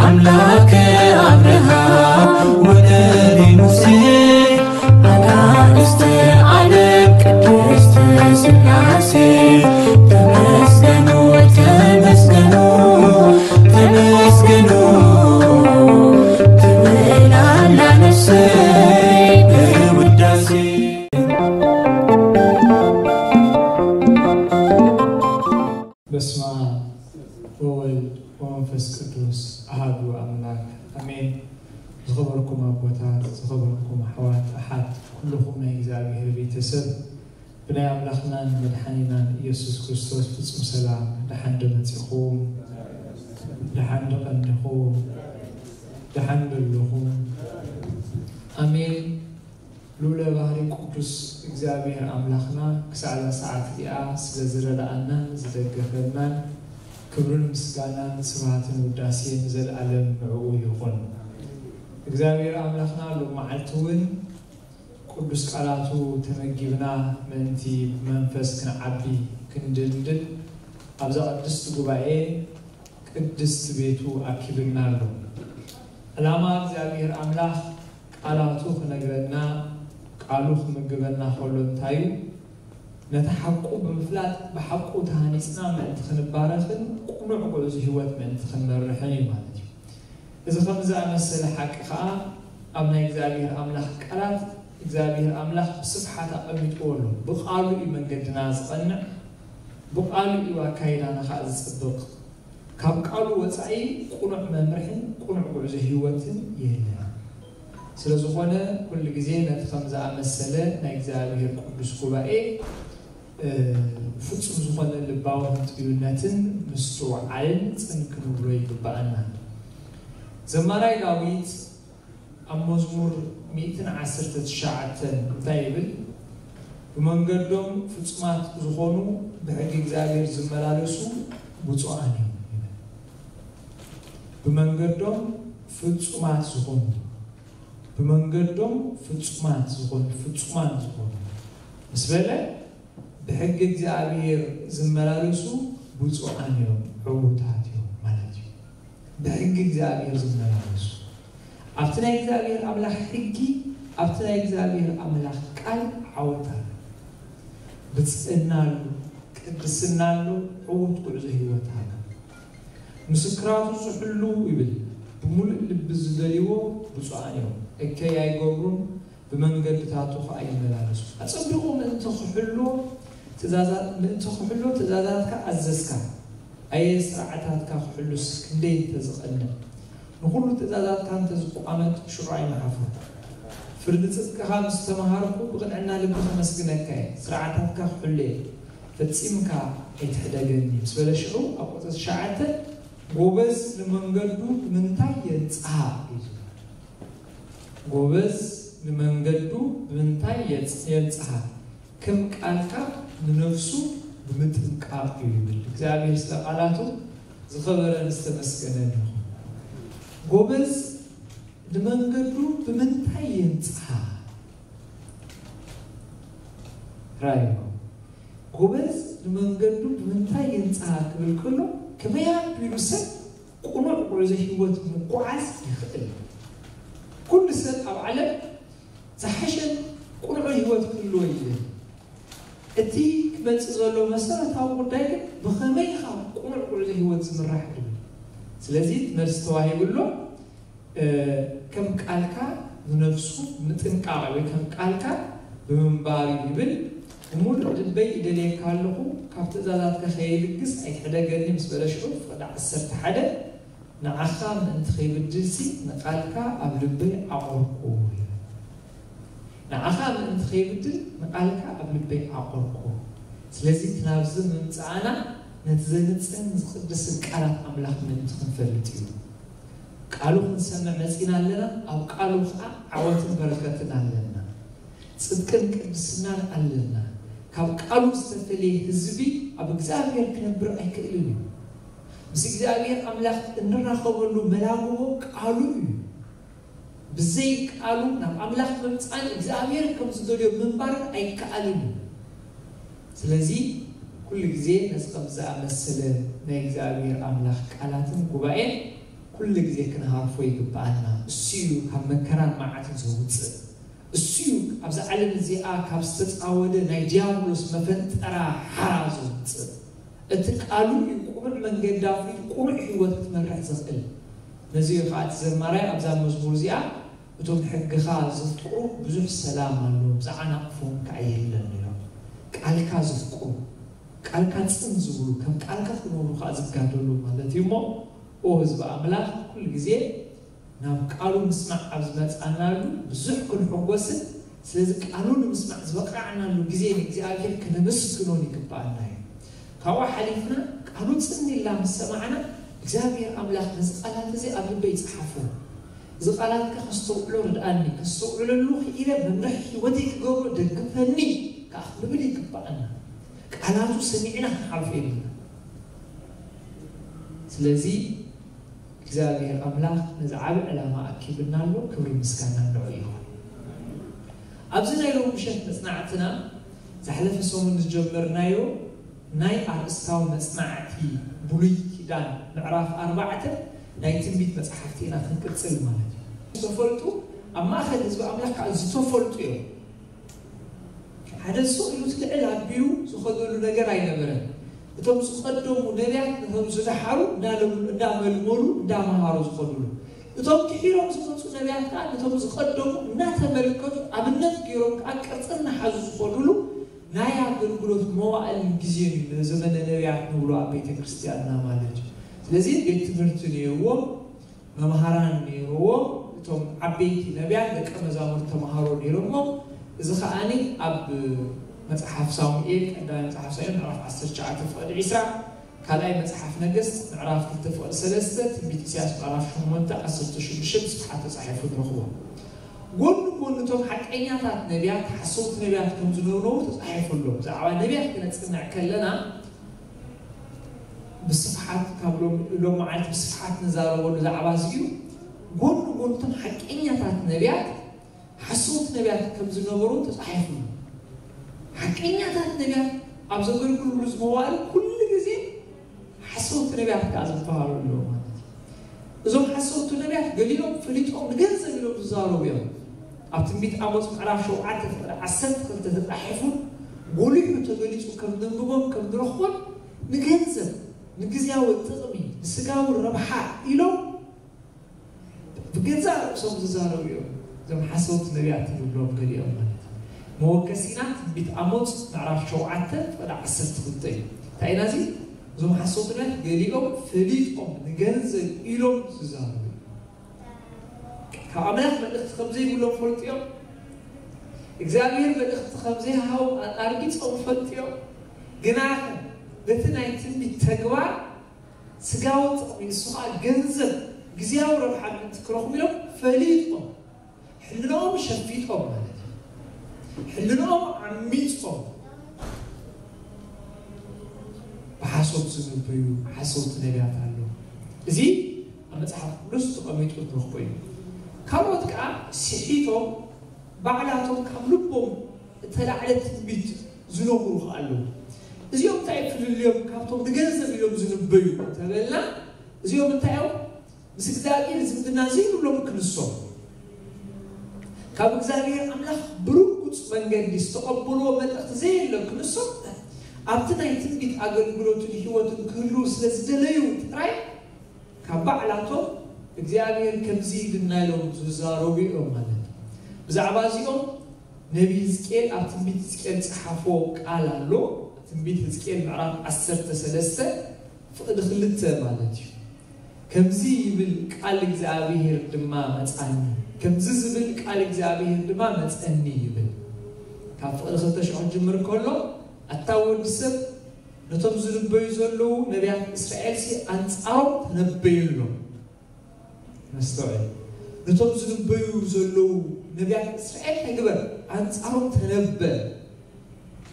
ኣምላከ ኣብርሃም ወነቢ ሙሴ ኣናእስተ ዓለም ቅድስት ስላሴ ተመስገኑ ተመስገኑ ተመስገኑ ትብል ኣላ ነፍሰይ ብውዳሴ። በስመ አብ ወወልድ ወመንፈስ ቅዱስ አሐዱ አምላክ አሜን። ዝኸበርኩም ኣቦታት፣ ዝኸበርኩም ኣሕዋት ኣሓት፣ ኩልኹም ናይ እግዚኣብሔር ቤተሰብ ብናይ ኣምላኽናን መድሓኒናን ኢየሱስ ክርስቶስ ፍጹም ሰላም ደሓን ዶ መጺኹም? ደሓን ዶ ቀኒኹም? ደሓን ዶ ኣለኹም? ኣሜን። ልዑለ ባህሪ ቅዱስ እግዚኣብሔር ኣምላኽና ክሳዕ እዛ ሰዓት እዚኣ ስለ ዝረድኣናን ዝደገፈናን ክብርን ምስጋናን ስብሃትን ውዳሴን ንዘለኣለም ንዕኡ ይኹን። እግዚኣብሔር ኣምላኽና ሎም መዓልቲ እውን ቅዱስ ቃላቱ ተመጊብና ምእንቲ ብመንፈስ ክንዓቢ ክንድልድል ኣብዛ ቅድስቲ ጉባኤ ቅድስቲ ቤቱ ኣኪብና ኣሎ። ዕላማ እግዚኣብሔር ኣምላኽ ቃላቱ ክነግረና ቃሉ ክምግበና ከሎ እንታይ እዩ? ነቲ ሓቁ ብምፍላጥ ብሓቁ ተሃኒፅና ምእንቲ ክንባረኽን ቅኑዕ ጉዕዞ ህይወት ምእንቲ ክንመርሕን እዩ ማለት እዩ። እዚ ከም ዝኣመሰለ ሓቂ ከዓ ኣብ ናይ እግዚኣብሔር ኣምላኽ ቃላት እግዚኣብሔር ኣምላኽ ብስፍሓት ኣቐሚጥዎ ኣሎ። ብቃሉ እዩ መንገድና ዝቐንዕ፣ ብቃሉ እዩ ኣካይዳና ከዓ ዝፅብቕ። ካብ ቃሉ ወፃኢ ቅኑዕ መምርሕን ቅኑዕ ጉዕዞ ህይወትን የለን። ስለዝኾነ ኩሉ ግዜ ነቲ ከም ዝኣመሰለ ናይ እግዚኣብሔር ቅዱስ ጉባኤ ፍጹም ዝኾነ ልባዊ ህንጥዩነትን ምስትውዓልን ጽን ክንብሎ ይግብኣና። ዘማራይ ዳዊት ኣብ መዝሙር ሚእትን ዓሰርተ ትሽዓተን እንታይ ይብል? ብመንገዶም ፍጹማት ዝኾኑ ብሕጊ እግዚኣብሔር ዝመላለሱ ብፁዓን እዮም ይብል። ብመንገዶም ፍጹማት ዝኾኑ ብመንገዶም ፍጹማት ዝኾኑ ፍጹማን ዝኾኑ ምስ በለ ብሕጊ እግዚኣብሔር ዝመላለሱ ብፁዓን እዮም ዕዉታት እዮም ማለት እዩ። ብሕጊ እግዚኣብሔር ዝመላለሱ ኣብቲ ናይ እግዚኣብሔር ኣምላኽ ሕጊ ኣብቲ ናይ እግዚኣብሔር ኣምላኽ ቃል ዓወት ኣሎ። ብፅእና ኣሎ፣ ቅድስና ኣሎ፣ ዕዉት ጉዕዞ ህይወት ኣሎ። ምስክራቱ ዝሕሉ ይብል ብምሉእ ልቢ ዝደልይዎ ብፁዓን እዮም። እከይ ኣይገብሩን ብመንገድታቱ ኸዓ ይመላለሱ። ኣጸቢቑ ምእንቲ ክሕልዎ ትእዛዛት ምእንቲ ክሕልዎ ትእዛዛትካ ኣዘዝካ። ኣየ ስርዓታትካ ክሕሉስ ክንደይ እንተዝቐንዕ። ንኹሉ ትእዛዛትካ እንተዝቋመጥ ሽዑ ኣይምሓፍርኩ። ፍርዲ ጽድቅኻ ምስ ተመሃርኩ ብቕንዕና ልቢ ከመስግነካ እየ። ስርዓታትካ ክሕሉ እየ። ፈጺምካ ኣይትሕደገኒ ምስ በለ ሽዑ ኣብ ቁጽሪ ትሽዓተ ጎበዝ ንመንገዱ ብምንታይ የንጽሃ እዩ ዝብል። ጎበዝ ንመንገዱ ብምንታይ የንጽሃ ከም ቃልካ ንነፍሱ ብምጥንቃቕ እዩ ይብል። እግዚኣብሔር ስለ ቃላቱ ዝኸበረን ዝተመስገነን ይኹን። ጎበዝ ንመንገዱ ብምንታይ የንጽሃ ራዮ ጎበዝ ንመንገዱ ብምንታይ የንጽሃ ክብል ከሎ ከመይ ኣቢሉ ሰብ ቅኑዕ ጉዕዞ ህይወት ምጉዓዝ ይኽእል? ኩሉ ሰብ ኣብ ዓለም ዝሓሸን ቅኑዕን ህይወት ክህልዎ ይደሊ። እቲ ክመጽእ ዘሎ መሰረታዊ ጉዳይ ግን ብኸመይ ኢኻ ቅኑዕ ጉዕዞ ህይወት ዝምራሕ ድብል። ስለዚ እቲ መልሲ ተዋሂቡ ኣሎ። ከም ቃልካ ንነፍሱ ምጥንቃቕ ወይ ከም ቃልካ ብምንባር እዩ ይብል። ብሙሉእ ልበይ ይደልየካ ኣለኹ፣ ካብ ትእዛዛትካ ከይልግስ ኣይትሕደገኒ ምስ በለ ሽዑ ፍቕዲ ዓሰርተ ሓደ ንዓኻ ምእንቲ ከይብድልሲ ንቃልካ ኣብ ልበይ ዓቖርኩ። ንዓኻ ምእንቲ ከይብድል ንቃልካ ኣብ ልበይ ዓቖርኩ። ስለዚ እቲ ናብዚ ምምፃእና ነቲ ዘንፅህን ዝቕድስን ቃላት ኣምላኽ ምእንቲ ክንፈልጥ እዩ። ቃሉ ክንሰምዕ መፂና ኣለና፣ ኣብ ቃሉ ከዓ ዓወትን በረከትን ኣለና። ፅድቅን ቅድስናን ኣለና። ካብ ቃሉ ዝተፈለየ ህዝቢ ኣብ እግዚኣብሔር ክነብር ኣይክእልን እዩ። ምስ እግዚኣብሔር ኣምላኽ እንራኸበሉ መላግቦ ቃሉ እዩ። ብዘይ ቃሉ ናብ ኣምላኽ ምምፃን እግዚኣብሔር ከም ዝደልዮ ምንባርን ኣይከኣልን እዩ። ስለዚ ኩሉ ግዜ ነዚ ከም ዝኣመሰለ ናይ እግዚኣብሔር ኣምላኽ ቃላትን ጉባኤን ኩሉ ግዜ ክንሃርፎ ይግብኣና። እሱ እዩ ካብ መከራን መዓትን ዘውፅእ። እሱ እዩ ኣብዛ ዓለም እዚኣ ካብ ዝተፃወደ ናይ ዲያብሎስ መፈንጠራ ሓራ ዘውፅእ። እቲ ቃሉ እዩ ቁሩዕ መንገዲ ኣፍሪቱ ቁሩዕ ህይወት ክትመርሕ ዘኽእል። ነዚ እዩ ከዓ እቲ ዘማራይ ኣብዛ መዝሙር እዚኣ እቶም ሕግኻ ዘፍቅሩ ብዙሕ ሰላም ኣለዎም፣ ዝዓናቕፎም ከዓ የለን ኢሎም። ቃልካ ዘፍቅሩ፣ ቃልካ ጽን ዝብሉ፣ ከም ቃልካ ክነብሩ ከዓ ዝጋደሉ ማለት እዩ። እሞ ኦ ህዝቢ ኣምላኽ፣ ኩሉ ግዜ ናብ ቃሉ ምስማዕ ኣብ ዝመጻናሉ ብዙሕ ክንሕጎስን ስለዚ ቃሉ ንምስማዕ ዝበቃዕናሉ ግዜ ንእግዚኣብሔር ክነመስግኖን ይግባኣና እዩ። ካብኡ ሓሊፍና ቃሉ ጽን ኢልና ምስ ሰማዕና እግዚኣብሔር ኣምላኽ ነዚ ቃላት እዚ ኣብ ልበይ ይጽሓፎ። እዚ ቃላትካ ከስተውዕሎ ርድኣኒ፣ ከስተውዕለሉ ክኢለ መምርሒ ህይወተይ ክገብሮ ደግፈኒ ከዓ ክንብል ይግባኣና። ቃላቱ ሰሚዕና ክንሓልፎ የብልና። ስለዚ እግዚኣብሔር ኣምላኽ ነዚ ዓቢ ዕላማ ኣኪብና ኣሎ። ክብሪ ምስጋና ንዑ ይኹን። ኣብዚ ናይ ሎሚ ምሸት መጽናዕትና ዝሓለፈ ሰሙን ዝጀመርናዮ ናይ ኣርእስታዊ መጽናዕቲ ብሉይ ኪዳን ምዕራፍ ኣርባዕተ ናይ ትንቢት መጽሓፍቲ ኢና ክንቅጽል ማለት እዩ። ዝተፈልጡ ኣብ ማእከል ህዝቢ ኣምላኽ ከዓ ዝተፈልጡ እዮም። ሓደ ሱቕ ኢሉ እቲ ልዕል ኣቢሉ ዝኸደሉ ነገር ኣይነበረን። እቶም ዝቐደሙ ነቢያት ነቶም ዝደሓሩ እንዳመልመሉ እንዳመሃሩ ዝኸዱሉ፣ እቶም ድሒሮም ዝመፁ ነቢያት ከዓ ነቶም ዝቐደሙ እናተመልከቱ ኣብነት ገይሮም ከዓ ቅርፂ እናሓዙ ዝኸዱሉ ናይ ኣገልግሎት መዋእልን ግዜን እዩ ዘመነ ነቢያት ንብሎ ኣብ ቤተ ክርስቲያንና ማለት እዩ። ስለዚ ቤት ትምህርቲ ነይርዎም፣ መምሃራን ነይርዎም። እቶም ዓበይቲ ነቢያት ደቀ መዛሙርት ተምሃሮ ነይሮሞ። እዚ ከዓኒ ኣብ መጽሓፍ ሳሙኤል፣ ቀዳማይ መጽሓፍ ሳሙኤል ምዕራፍ ዓሰርተ ትሽዓተ ፍቕዲ ዕስራ፣ ካልኣይ መጽሓፍ ነገስት ምዕራፍ ክልተ ፍቕዲ ሰለስተ፣ ትንቢት ኢሳያስ ምዕራፍ ሸሞንተ ዓሰርተ ሽዱሽተ ብስፍሓት ተጻሒፉ ንረኽቦ። ጎኒ ጎኒ እቶም ሓቀኛታት ነቢያት ሓሰውቲ ነቢያት ከም ዝነበሩ ተጻሒፉ ኣሎ። ብዛዕባ ነቢያት ክነጽንዕ ከለና ብስፍሓት ካብ ሎም- ሎም መዓልቲ ብስፍሓት ንዛረበሉ ዛዕባ እዚ እዩ። ጎኒ ጎኒ እቶም ሓቀኛታት ነቢያት ሓሰውቲ ነቢያት ከም ዝነበሩ ተጻሒፉ ኣሎ። ሓቀኛታት ነቢያት ኣብ ዘገልግሉሉ ዝመዋእሉ ኩሉ ግዜ ሓሰውቲ ነቢያት ከዓ ዝበሃሉ ኣለዉ ማለት እዩ። እዞም ሓሰውቲ ነቢያት ገሊኦም ፈሊጦም ንገንዘብ ኢሎም ዝዛረቡ እዮም። ኣብ ትንቢት ኣሞጽ ምዕራፍ ሸውዓተ ፍቕዲ ዓሰርተ ክልተ ተጻሒፉን ጎሊሑ ተገሊጹ ከም ነንብቦን ከም ንረኽቦን ንገንዘብ፣ ንግዝያዊ ጥቕሚ፣ ንስጋዊ ረብሓ ኢሎም ብገዛእ ርእሶም ዝዛረቡ እዮም። እዞም ሓሰውቲ ነቢያት ንብሎም ገሊኦም ማለት እዩ። መወከሲና ትንቢት ኣሞጽ ምዕራፍ ሸውዓተ ፍቕዲ ዓሰርተ ክልተ እዩ። እንታይ ኢና እዚ? እዞም ሓሰውቲ ነቢያት ገሊኦም ፈሊጦም ንገንዘብ ኢሎም ዝዛረቡ እዮም። ካብ ኣምላኽ መልእኽቲ ከም ዘይብሎም ፈልጡ እዮም። እግዚኣብሔር መልእኽቲ ከም ዘይሃቦም ኣርጊጾም ፈልጡ እዮም። ግና በቲ ናይ ትንቢት ተግባር ስጋዊ ጥቕሚ፣ እሱ ኸዓ ገንዘብ፣ ግዝያዊ ረብሓ ምእንቲ ክረኽቡ ኢሎም ፈሊጦም፣ ሕልናኦም ሸፊጦም ማለት እዩ። ሕልናኦም ዓሚጾም ብሓሶት ዝንበዩ ሓሰውቲ ነቢያት ኣለዉ። እዚ ኣብ መጽሓፍ ቅዱስ ተቐሚጡ ንረኽቦ እዩ። ካልኦት ከኣ ስሒቶም ባዕላቶም ካብ ልቦም እተላዕለ ትንቢት ዝነግሩ ከኣ ኣለዉ። እዚኦም እንታይ ፍልልዮም ካብቶም ንገንዘብ ኢሎም ዝንበዩ እንተበልና፣ እዚኦም እንታይ እዮም? ምስ እግዚኣብሔር ዝምድና ዘይብሎም ክንሶም፣ ካብ እግዚኣብሔር ኣምላኽ ብርጉጽ መንገዲ ዝተቐበልዎ መልእኽቲ ዘየለ ክንሶም፣ ኣብቲ ናይ ትንቢት ኣገልግሎትን ህይወትን ክህልዉ ስለ ዝደለዩ ጥራይ ካብ ባዕላቶም እግዚኣብሔር ከምዚ ኢልና ኢሎም ዝዛረቡ እዮም ማለት እዩ። ብዛዕባ እዚኦም ነቢ ህዝቅኤል ኣብ ትንቢት ህዝቅኤል ዝጸሓፎ ቃል ኣሎ። ትንቢት ህዝቅኤል ምዕራፍ ዓሰርተ ሰለስተ ፍቕዲ ክልተ ማለት እዩ። ከምዚ ይብል ቃል እግዚኣብሔር ድማ መጻኒ፣ ከምዚ ዝብል ቃል እግዚኣብሔር ድማ መጸኒ ይብል። ካብ ፍቕዲ ክልተ ሽዑ ክጅምር ከሎ፣ ኣታ ወዲ ሰብ፣ ነቶም ዝንበዩ ዘለዉ ነቢያት እስራኤልሲ ኣንጻሮም ተነበየሎም። መስተውዕል። ነቶም ዝንበዩ ዘለዉ ነቢያት እስራኤል እንታይ ግበር? ኣንጻሮም ተነበ።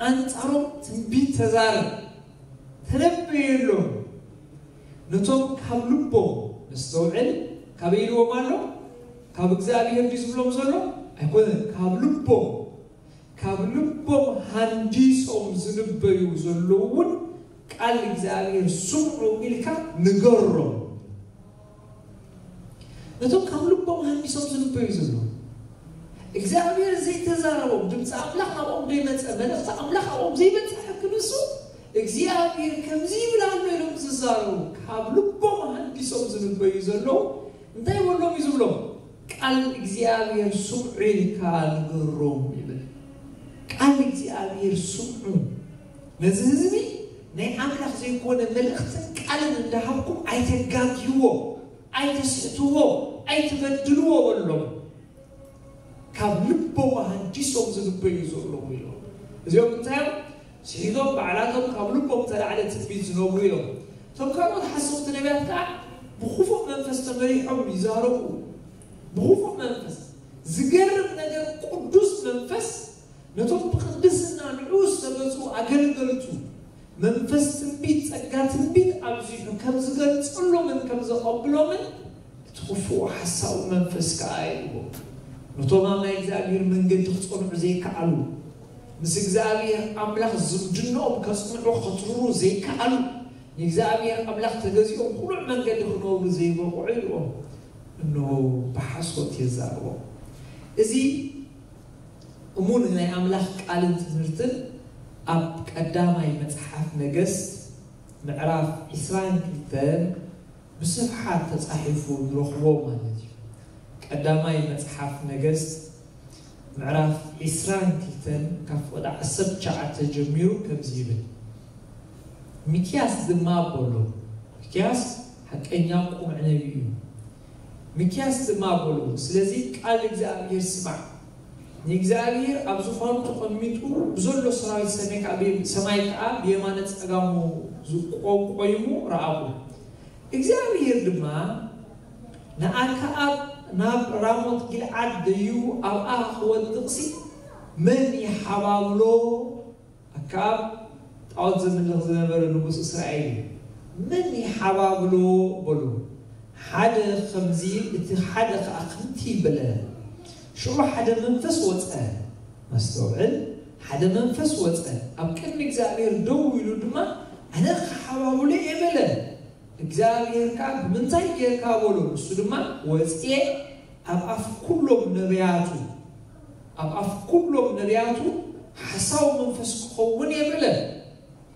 ኣንጻሮም ትንቢት ተዛረብ። ተነበየሎም። ነቶም ካብ ልቦም፣ መስተውዕል፣ ካበይ ኢልዎም ኣሎ? ካብ እግዚኣብሔር ድዩ ዝብሎም ዘሎ? ኣይኮነን። ካብ ልቦም፣ ካብ ልቦም ሃንዲሶም ዝንበዩ ዘለዉ እውን ቃል እግዚኣብሔር ስምዑ ኢልካ ንገሮም። ነቶም ካብ ልቦም ሃንዲሶም ዝንበዩ ዘለዉ እግዚኣብሔር ዘይተዛረቦም፣ ድምፂ ኣምላኽ ናብኦም ዘይመፀ፣ መልእኽቲ ኣምላኽ ኣብኦም ዘይበፅሐ ክንሱ እግዚኣብሔር ከምዚ ይብል ኣሎ ኢሎም ዝዛረቡ ካብ ልቦም ሃንዲሶም ዝንበዩ ዘለዉ እንታይ በሎም እዩ ዝብሎም? ቃል እግዚኣብሔር ስምዑ ኢልካ ንገሮም ይብል። ቃል እግዚኣብሔር ስምዑ። ነዚ ህዝቢ ናይ ኣምላኽ ዘይኮነ መልእኽትን ቃልን እንዳሃብኩም ኣይተጋግይዎ፣ ኣይተስሕትዎ፣ ኣይትበድልዎ በሎም። ካብ ልቦም ኣሃንዲሶም ዝንበዩ ዘለዉ ኢሎም። እዚኦም እንታይ እዮም? ስሒቶም ባዕላቶም ካብ ልቦም ተላዕለ ትንቢት ዝነግሩ እዮም። እቶም ካልኦት ሓሰውቲ ነቢያት ከዓ ብክፉእ መንፈስ ተመሪሖም ይዛረቡ። ብክፉእ መንፈስ። ዝገርም ነገር፣ ቅዱስ መንፈስ ነቶም ብቅድስና ንዑ ዝተገዝኡ ኣገልገልቱ መንፈስ ትንቢት፣ ጸጋ ትንቢት ኣብዚሑ ከም ዝገልጸሎምን ከም ዘቐብሎምን እቲ ክፉእ ሓሳዊ መንፈስ ከኣ ይእልዎ። ነቶም ኣብ ናይ እግዚኣብሔር መንገዲ ክጸንዑ ዘይከኣሉ፣ ምስ እግዚኣብሔር ኣምላኽ ዝምድንኦም ከጽንዑ ከትርሩ ዘይከኣሉ፣ ንእግዚኣብሔር ኣምላኽ ተገዚኦም ቅኑዕ መንገዲ ክነብሩ ዘይበቕዑ ኢልዎም። እንሆ ብሓሶት የዛርቦም። እዚ እሙን ናይ ኣምላኽ ቃልን ትምህርትን ኣብ ቀዳማይ መጽሓፍ ነገስት ምዕራፍ ዕስራን ክልተን ብስፍሓት ተጻሒፉ ንረኽቦ ማለት እዩ። ቀዳማይ መጽሓፍ ነገስት ምዕራፍ ዕስራን ክልተን ካብ ፍቕዲ ዓሰርተ ትሽዓተ ጀሚሩ ከምዚ ይብል። ሚክያስ ድማ በሎ፣ ሚክያስ ሓቀኛ ቁሙዕ ነቢይ እዩ። ሚክያስ ድማ በሎ፣ ስለዚ ቃል እግዚኣብሔር ስማዕ። ንእግዚኣብሔር ኣብ ዙፋኑ ተቐሚጡ ብዘሎ ሰራዊት ሰማይ ከዓ ብየ-፣ ሰማይ ከዓ ብየማነ ጸጋሙ ዝቆ-፣ ቆይሙ ረኣኹ። እግዚኣብሔር ድማ ንኣከኣብ ናብ ራሞት ጊልዓድ ደይቡ ኣብኣ ክወድቕሲ መን ይሓባብሎ? ኣከኣብ ጣዖት ዘምልኽ ዝነበረ ንጉስ እስራኤል እዩ። መን ይሓባብሎ በሉ። ሓደ ከምዚ፣ እቲ ሓደ ከኣ ከምቲ በለ። ሽዑ ሓደ መንፈስ ወጸ። መስተውዕል፣ ሓደ መንፈስ ወጸ። ኣብ ቅድሚ እግዚኣብሔር ደው ኢሉ ድማ፣ ኣነ ክሓባብሎ እየ በለ። እግዚኣብሔር ከኣ፣ ብምንታይ ጌርካ በሎ። ንሱ ድማ፣ ወጽየ ኣብ ኣፍ ኩሎም ነቢያቱ፣ ኣብ ኣፍ ኩሎም ነቢያቱ ሓሳዊ መንፈስ ክኸውን እየ በለ።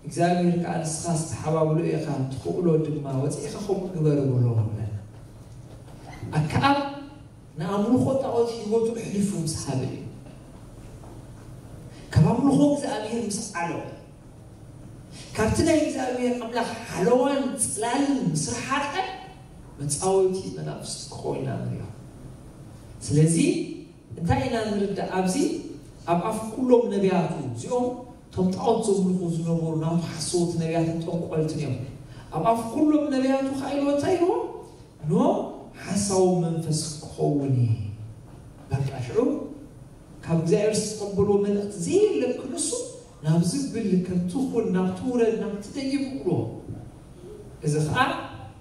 እግዚኣብሔር ከኣ ንስኻ ዝተሓባብሎ ኢኻ፣ ትኽእሎ ድማ፣ ወፂእኻ ከምኡ ግበር በሎ። ኣከኣብ ንኣምልኾ ጣዖት ህይወቱ ኣሕሊፉ ምስ ሃበ እዩ። ካብ ኣምልኾ እግዚኣብሔር ምስ ዓለወ፣ ካብቲ ናይ እግዚኣብሔር ኣምላኽ ሓለዋን ጽላልን ምስ ረሓቐ፣ መጻወቲ መናፍስቲ ክኸውን ኢና ንሪኦ። ስለዚ እንታይ ኢና ንርዳእ ኣብዚ? ኣብ ኣፍ ኩሎም ነቢያቱ፣ እዚኦም እቶም ጣዖት ዘምልኹ ዝነበሩ ናቱ ሓሰውቲ ነቢያትን ጠንቆልትን እዮም። ኣብ ኣፍ ኩሎም ነቢያቱ ከኣ ኢልዎ እንታይ ኢልዎ? ኖ ሓሳዊ መንፈስ ክኸውን እዩ። በቃ ሽዑ ካብ እግዚኣብሔር ዝተቐበልዎ መልእኽቲ ዘየለ ክንሱ ናብ ዝብል ከምቲ ኩን፣ ናብቲ ውረድ፣ ናብቲ ደይብ ይብሎ። እዚ ኸዓ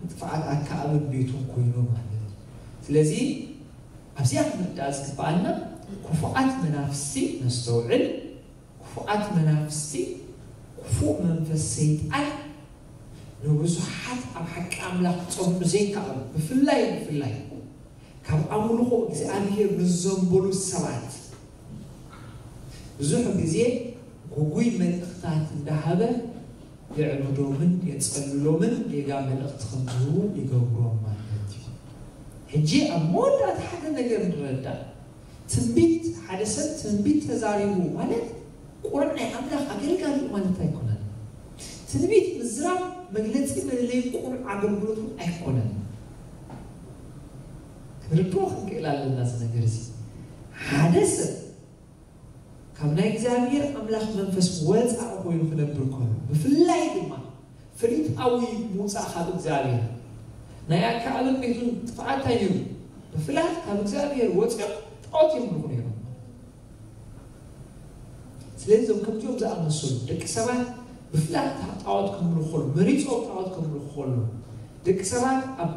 ንጥፍኣት ኣከኣብን ቤቱን ኮይኑ ማለት እዩ። ስለዚ ኣብዚኣ ክንርዳእ ዝግብኣና ክፉኣት መናፍስቲ ነስተውዕል። ክፉኣት መናፍስቲ፣ ክፉእ መንፈስ ሰይጣን ንብዙሓት ኣብ ሓቂ ኣምላኽ ክጸንዑ ዘይከኣሉ፣ ብፍላይ፣ ብፍላይ ካብ ኣምልኾ እግዚኣብሔር ንዘንበሉ ሰባት ብዙሕ ግዜ ግጉይ መልእኽታት እንዳሃበ የዕብዶምን የጸልሎምን ጌጋ መልእኽቲ ከም ዝህቡ ይገብሮም ማለት እዩ። ሕጂ ኣብ መወዳእታ ሓደ ነገር ንረዳእ። ትንቢት፣ ሓደ ሰብ ትንቢት ተዛሪቡ ማለት ቁሩብ ናይ ኣምላኽ ኣገልጋሊ እዩ ማለት ኣይኮነን። ትንቢት ምዝራብ መግለጺ መለለዪ ቁሩብ ኣገልግሎት እውን ኣይኮነን። ክንርድኦ ክንክእል ኣለና እዚ ነገር እዚ። ሓደ ሰብ ካብ ናይ እግዚኣብሔር ኣምላኽ መንፈስ ወፃኢ ኮይኑ ክነብር ከሎ፣ ብፍላይ ድማ ፍሊጣዊ ምውፃእ ካብ እግዚኣብሔር፣ ናይ ኣከኣብን ቤቱን ጥፍኣት እንታይ ነይሩ? ብፍላት ካብ እግዚኣብሔር ወፂኦም ጣዖት የምልኹ ነይሮም። ስለዚ እዞም ከምዚኦም ዝኣመሰሉ ደቂ ሰባት ብፍላት ጣዖት ከምልኹ ከሎ፣ መሪፆም ጣዖት ከምልኹ ከሎ፣ ደቂ ሰባት ኣብ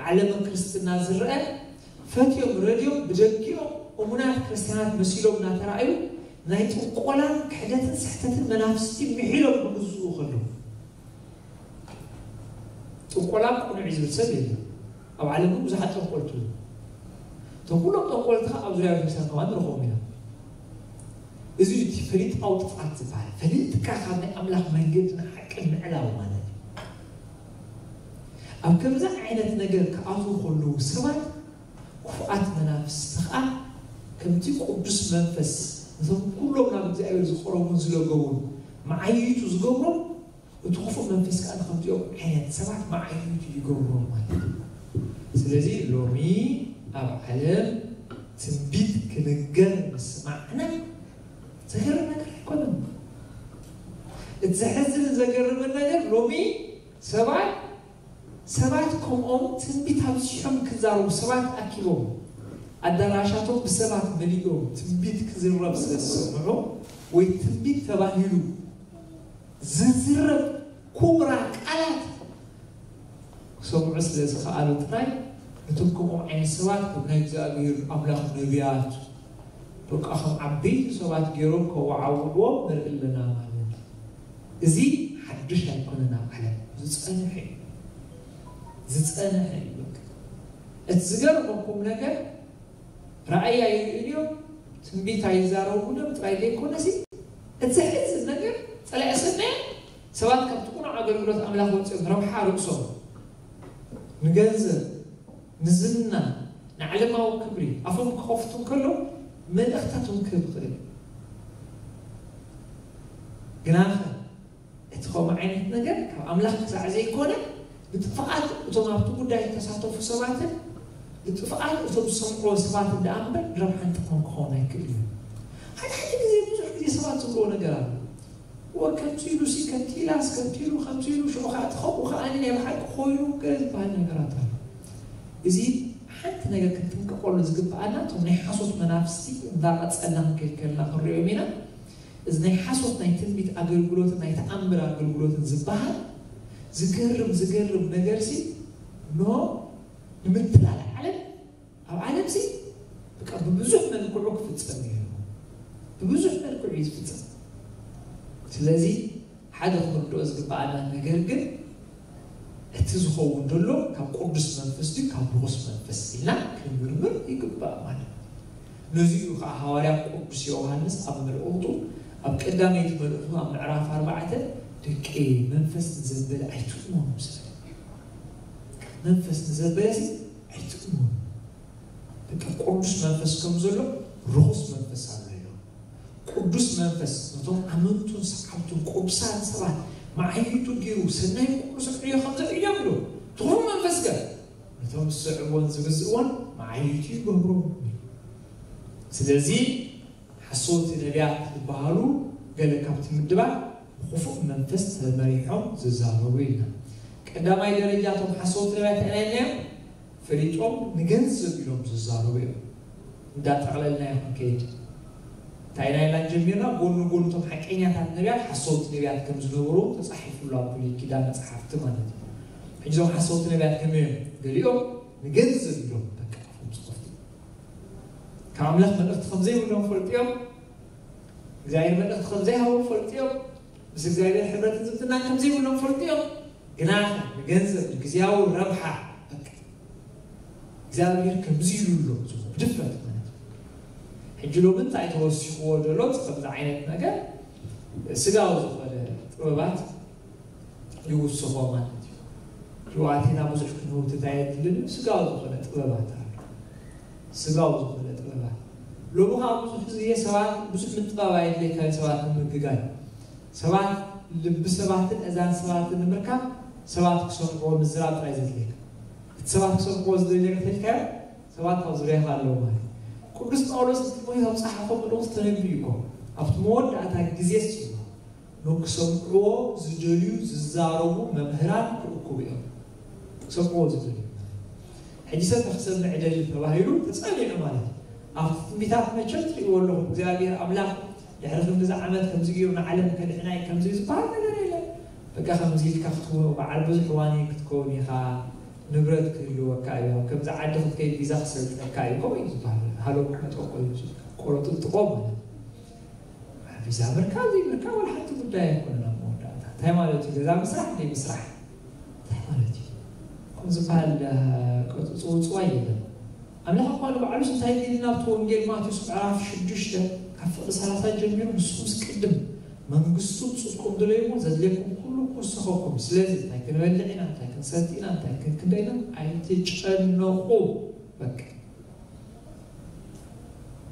ዓለመ ክርስትና ዝረአ ፈትዮም ረድዮም ብደጊኦም እሙናት ክርስትያናት መሲሎም እናተራእዩ ናይ ጥንቆላን ክሕደትን ስሕተትን መናፍስቲ ምሒሎም ክግዝኡ ከለዉ። ጥንቆላ ቅኑዕ እዩ ዝብል ሰብ የለን። ኣብ ዓለም እውን ብዙሓት ጠንቆልቲ ኣለዉ። እቶም ኩሎም ጠንቆልቲ ከዓ ኣብ ዙርያ ቤተክርስትያን ከማን ንረኽቦም ኢና። እዚ እዩ እቲ ፈሊጣዊ ጥፍኣት ዝበሃል። ፈሊጥካ ካብ ናይ ኣምላኽ መንገድን ሓቅን ምዕላው ማለት እዩ። ኣብ ከምዚ ዓይነት ነገር ክኣትዉ ከለዉ ሰባት፣ ክፉኣት መናፍስቲ ከዓ ከምቲ ቅዱስ መንፈስ ነቶም ኩሎም ናብ እግዚኣብሔር ዝቐረቡን ዝለገቡን መዓይይቱ ዝገብሮም፣ እቲ ክፉእ መንፈስ ከዓ ንከምዚኦም ዓይነት ሰባት መዓይይቱ ይገብሮም ማለት እዩ። ስለዚ ሎሚ ኣብ ዓለም ትንቢት ክንገር ምስማዕና ዘገርም ነገር ኣይኮነን። እቲ ዘሕዝንን ዘገርምን ነገር ሎሚ ሰባት ሰባት ከምኦም ትንቢት ኣብዚሖም ክዛረቡ፣ ሰባት ኣኪቦም፣ ኣዳራሻቶም ብሰባት መሊኦም ትንቢት ክዝረብ ስለ ዝሰምዑ፣ ወይ ትንቢት ተባሂሉ ዝዝረብ ኩቡራ ቃላት ክሰምዑ ስለ ዝኸኣሉ ጥራይ፣ ነቶም ከምኦም ዓይነት ሰባት ከም ናይ እግዚኣብሔር ኣምላኽ ነቢያት፣ በቃ ከም ዓበይቲ ሰባት ገይሮም ከወዓውዕዎም ንርኢ ኣለና ማለት እዩ። እዚ ሓድሽ ኣይኮነን ኣብ ዓለም፣ ዝጸንሐ እዩ። ዝጸንሐ እዩ። በቃ እቲ ዝገርመኩም ነገር፣ ራእይ ኣይርእዩን እዮም፣ ትንቢት ኣይዛረቡን እዮም ጥራይ ዘይኮነሲ፣ እቲ ዘሕዝን ነገር፣ ጸላኢ ሰናይ ሰባት ካብቲ ቅኑዕ ኣገልግሎት ኣምላኽ ወጺኦም ረብሓ ርእሶም ንገንዘብ፣ ንዝና፣ ንዓለማዊ ክብሪ ኣፎም ክኸፍቱ እንከለዉ፣ መልእኽታት እውን ክህብ ይኽእል እዩ። ግናኸ እቲ ከምኡ ዓይነት ነገር ካብ ኣምላኽ ክሳዕ ዘይኮነ፣ ንጥፍኣት እቶም ኣብቲ ጉዳይ እተሳተፉ ሰባትን ንጥፍኣት እቶም ዝሰምዕዎ ሰባትን ደኣ እምበር፣ ንረብሓን ጥቕምን ክኸውን ኣይክእልን እዩ። ሓደ ሓደ ግዜ፣ ብዙሕ ግዜ ሰባት ዝብልዎ ነገር ኣሎ። "ወ፣ ከምዚ ኢሉሲ፣ ከምቲ ኢላስ፣ ከምቲ ኢሉ፣ ከምዚ ኢሉ፣ ሽዑ ኸዓ እቲ ከምኡ ኸዓ ናይ ብሓቂ ኮይኑ" ገለ ዝበሃል ነገራት ኣሎ። እዚ ሓንቲ ነገር ክንጥንቀቐሉ ዝግብኣና፣ እቶም ናይ ሓሶት መናፍስቲ እንዳቐጸልና ክንከይድ ከለና ክንሪኦም ኢና። እዚ ናይ ሓሶት ናይ ትንቢት ኣገልግሎትን ናይ ተኣምር ኣገልግሎትን ዝበሃል ዝገርም፣ ዝገርም ነገርሲ፣ ኖ፣ ንምትላል ዓለም፣ ኣብ ዓለምሲ በቃ ብብዙሕ መልክዑ ክፍጸም እዩ። ብብዙሕ መልክዑ እዩ ዝፍጸም። ስለዚ ሓደ ክንርድኦ ዝግብኣና ነገር ግን፣ እቲ ዝኸውን ዘሎ ካብ ቅዱስ መንፈስ ድዩ ካብ ርኹስ መንፈስ ኢልና ክንምርምር ይግባእ ማለት እዩ። ነዚ እዩ ከዓ ሃዋርያ ቅዱስ ዮሃንስ ኣብ መልእኽቱ፣ ኣብ ቀዳመይቲ መልእኽቱ ኣብ ምዕራፍ ኣርባዕተ፣ "ደቂ መንፈስ ንዘበለ ኣይትእመኑ" ዝብል። መንፈስ ንዘበለሲ ኣይትእመኑ። በቃ ቅዱስ መንፈስ ከም ዘሎ ርኹስ መንፈስ ኣሎ ኢሉ። ቅዱስ መንፈስ ነቶም ኣመንቱን ሰዓብቱን ቅዱሳት ሰባት መዓይይቱ ገይሩ ሰናይ ኩሉ ስምዕዮ ከም ዘርእዮም ኢሉ። እቲ ክፉእ መንፈስ ከ ነቶም ዝስዕብዎን ዝግዝእዎን መዓይይቱ ይገብሮም። ስለዚ ሓሰውቲ ነቢያት ዝበሃሉ ገለ ካብቲ ምድባት ብክፉእ መንፈስ ተመሪሖም ዝዛረቡ ኢልና። ቀዳማይ ደረጃ እቶም ሓሰውቲ ነቢያት እንታይ ኢልና? ፈሊጦም ንገንዘብ ኢሎም ዝዛረቡ እዮም። እንዳጠቕለልናዮ ክንከይድ፣ እንታይ ኢና ኢልና ጀሚርና? ጎኒ ጎኒ እቶም ሓቀኛታት ነቢያት ሓሰውቲ ነቢያት ከም ዝነበሩ ተጻሒፉ ኣሎ ኣብ ብሉይ ኪዳን መጽሓፍቲ ማለት እዩ። ሕጂ እዞም ሓሰውቲ ነቢያት ከመይ እዮም? ገሊኦም ንገንዘብ ኢሎም በቃ ኣፎም ዝኸፍቱ፣ ካብ ኣምላኽ መልእኽቲ ከም ዘይብሎም ፈልጡ እዮም። እግዚኣብሔር መልእኽቲ ከም ዘይሃቦም ፈልጡ እዮም። ምስ እግዚኣብሔር ሕብረትን ዝምድናን ከም ዘይብሎም ፈልጡ እዮም። ግና ንገንዘብ፣ ንግዝያዊ ረብሓ፣ በቃ እግዚኣብሔር ከምዚ ኢሉ ኣሎ፣ ብድፍረት ማለት እዩ። ሕጂ ሎሚ እንታይ ተወሲኽዎ ዘሎ? ከምዚ ዓይነት ነገር ስጋዊ ዝኾነ ጥበባት ይውስኾ ማለት እዩ። ሕጂ ኣቴና ብዙሕ ክንህውትት ኣየድልን እዩ። ስጋዊ ዝኾነ ጥበባት ኣሎ። ስጋዊ ዝኾነ ጥበባት። ሎሚ ከዓ ብዙሕ ግዜ ሰባት ብዙሕ ምጥባብ ኣየድልየካ እዩ፣ ሰባት ንምግጋይ። ሰባት፣ ልቢ ሰባትን እዛን ሰባትን ንምርካብ ሰባት ክሰምዕዎ ምዝራብ ጥራይ ዘድልየካ። እቲ ሰባት ክሰምዕዎ ዝደልዮ ተልካዮ ሰባት ኣብ ዙርያኻ ኣለዉ ማለት እዩ። ቅዱስ ጳውሎስ ንጢሞቴዎስ ኣብ ጸሓፎ መልእኽቲ ተነቢዩ እኮ። ኣብቲ መወዳእታ ግዜስ ኢሉ ንክሰምዕዎ ዝደልዩ ዝዛረቡ መምህራን ክእክቡ እዮም። ክሰምዕዎ ዝደልዩ። ሕጂ ሰብ ንክሰምዕ ደሊ ተባሂሉ ተጸኒዑ ማለት እዩ። ኣብቲ ትንቢታት መቸም ትርእይዎ ኣለኹም። እግዚኣብሔር ኣምላኽ ድሕሪ ክንድዚ ዓመት ከምዚ ገይሩ ንዓለም ከድሕና እዩ ከምዚ ዝበሃል ነገር የለን። በቃ ከምዚ ኢልካ ክትከውን በዓል ብዙሕ ዋኒ ክትከውን ኢኻ፣ ንብረት ክህልወካ እዩ፣ ኣብ ከምዚ ዓዲ ክትከይድ ቪዛ ክሰልጠካ እዩ፣ ከምኡ እዩ ዝበሃል። ሃሎ ክመጠቆ እዩ፣ ቆረጥጥቆ ማለት እዩ። ቪዛ ምርካብ ዘይምርካብ ዋላ ሓንቲ ጉዳይ ኣይኮነን። ኣብ መወዳእታ እንታይ ማለት እዩ? ገዛ ምስራሕ ዘይምስራሕ እንታይ ማለት እዩ? ከምኡ ዝበሃል፣ እ፣ ቅጽ-፣ ጽውጽዋይ የለን። ኣምላኽ እኳ ንባዕሉስ እንታይ ኢሉ ናብቲ ወንጌል ማቴዎስ ምዕራፍ ሽዱሽተ ካብ ፍቕዲ ሰላሳ ጀሚሩ፣ ንስኹምስ ቅድም መንግስቱን ጽድቁን ድለዩ እሞ ዘድልየኩም ኩሉ ክውሰኸኩም። ስለዚ እንታይ ክንበልዕ ኢና፣ እንታይ ክንሰቲ ኢና፣ እንታይ ክንክንደ ኢና ኣይትጨነቑ። በቃ።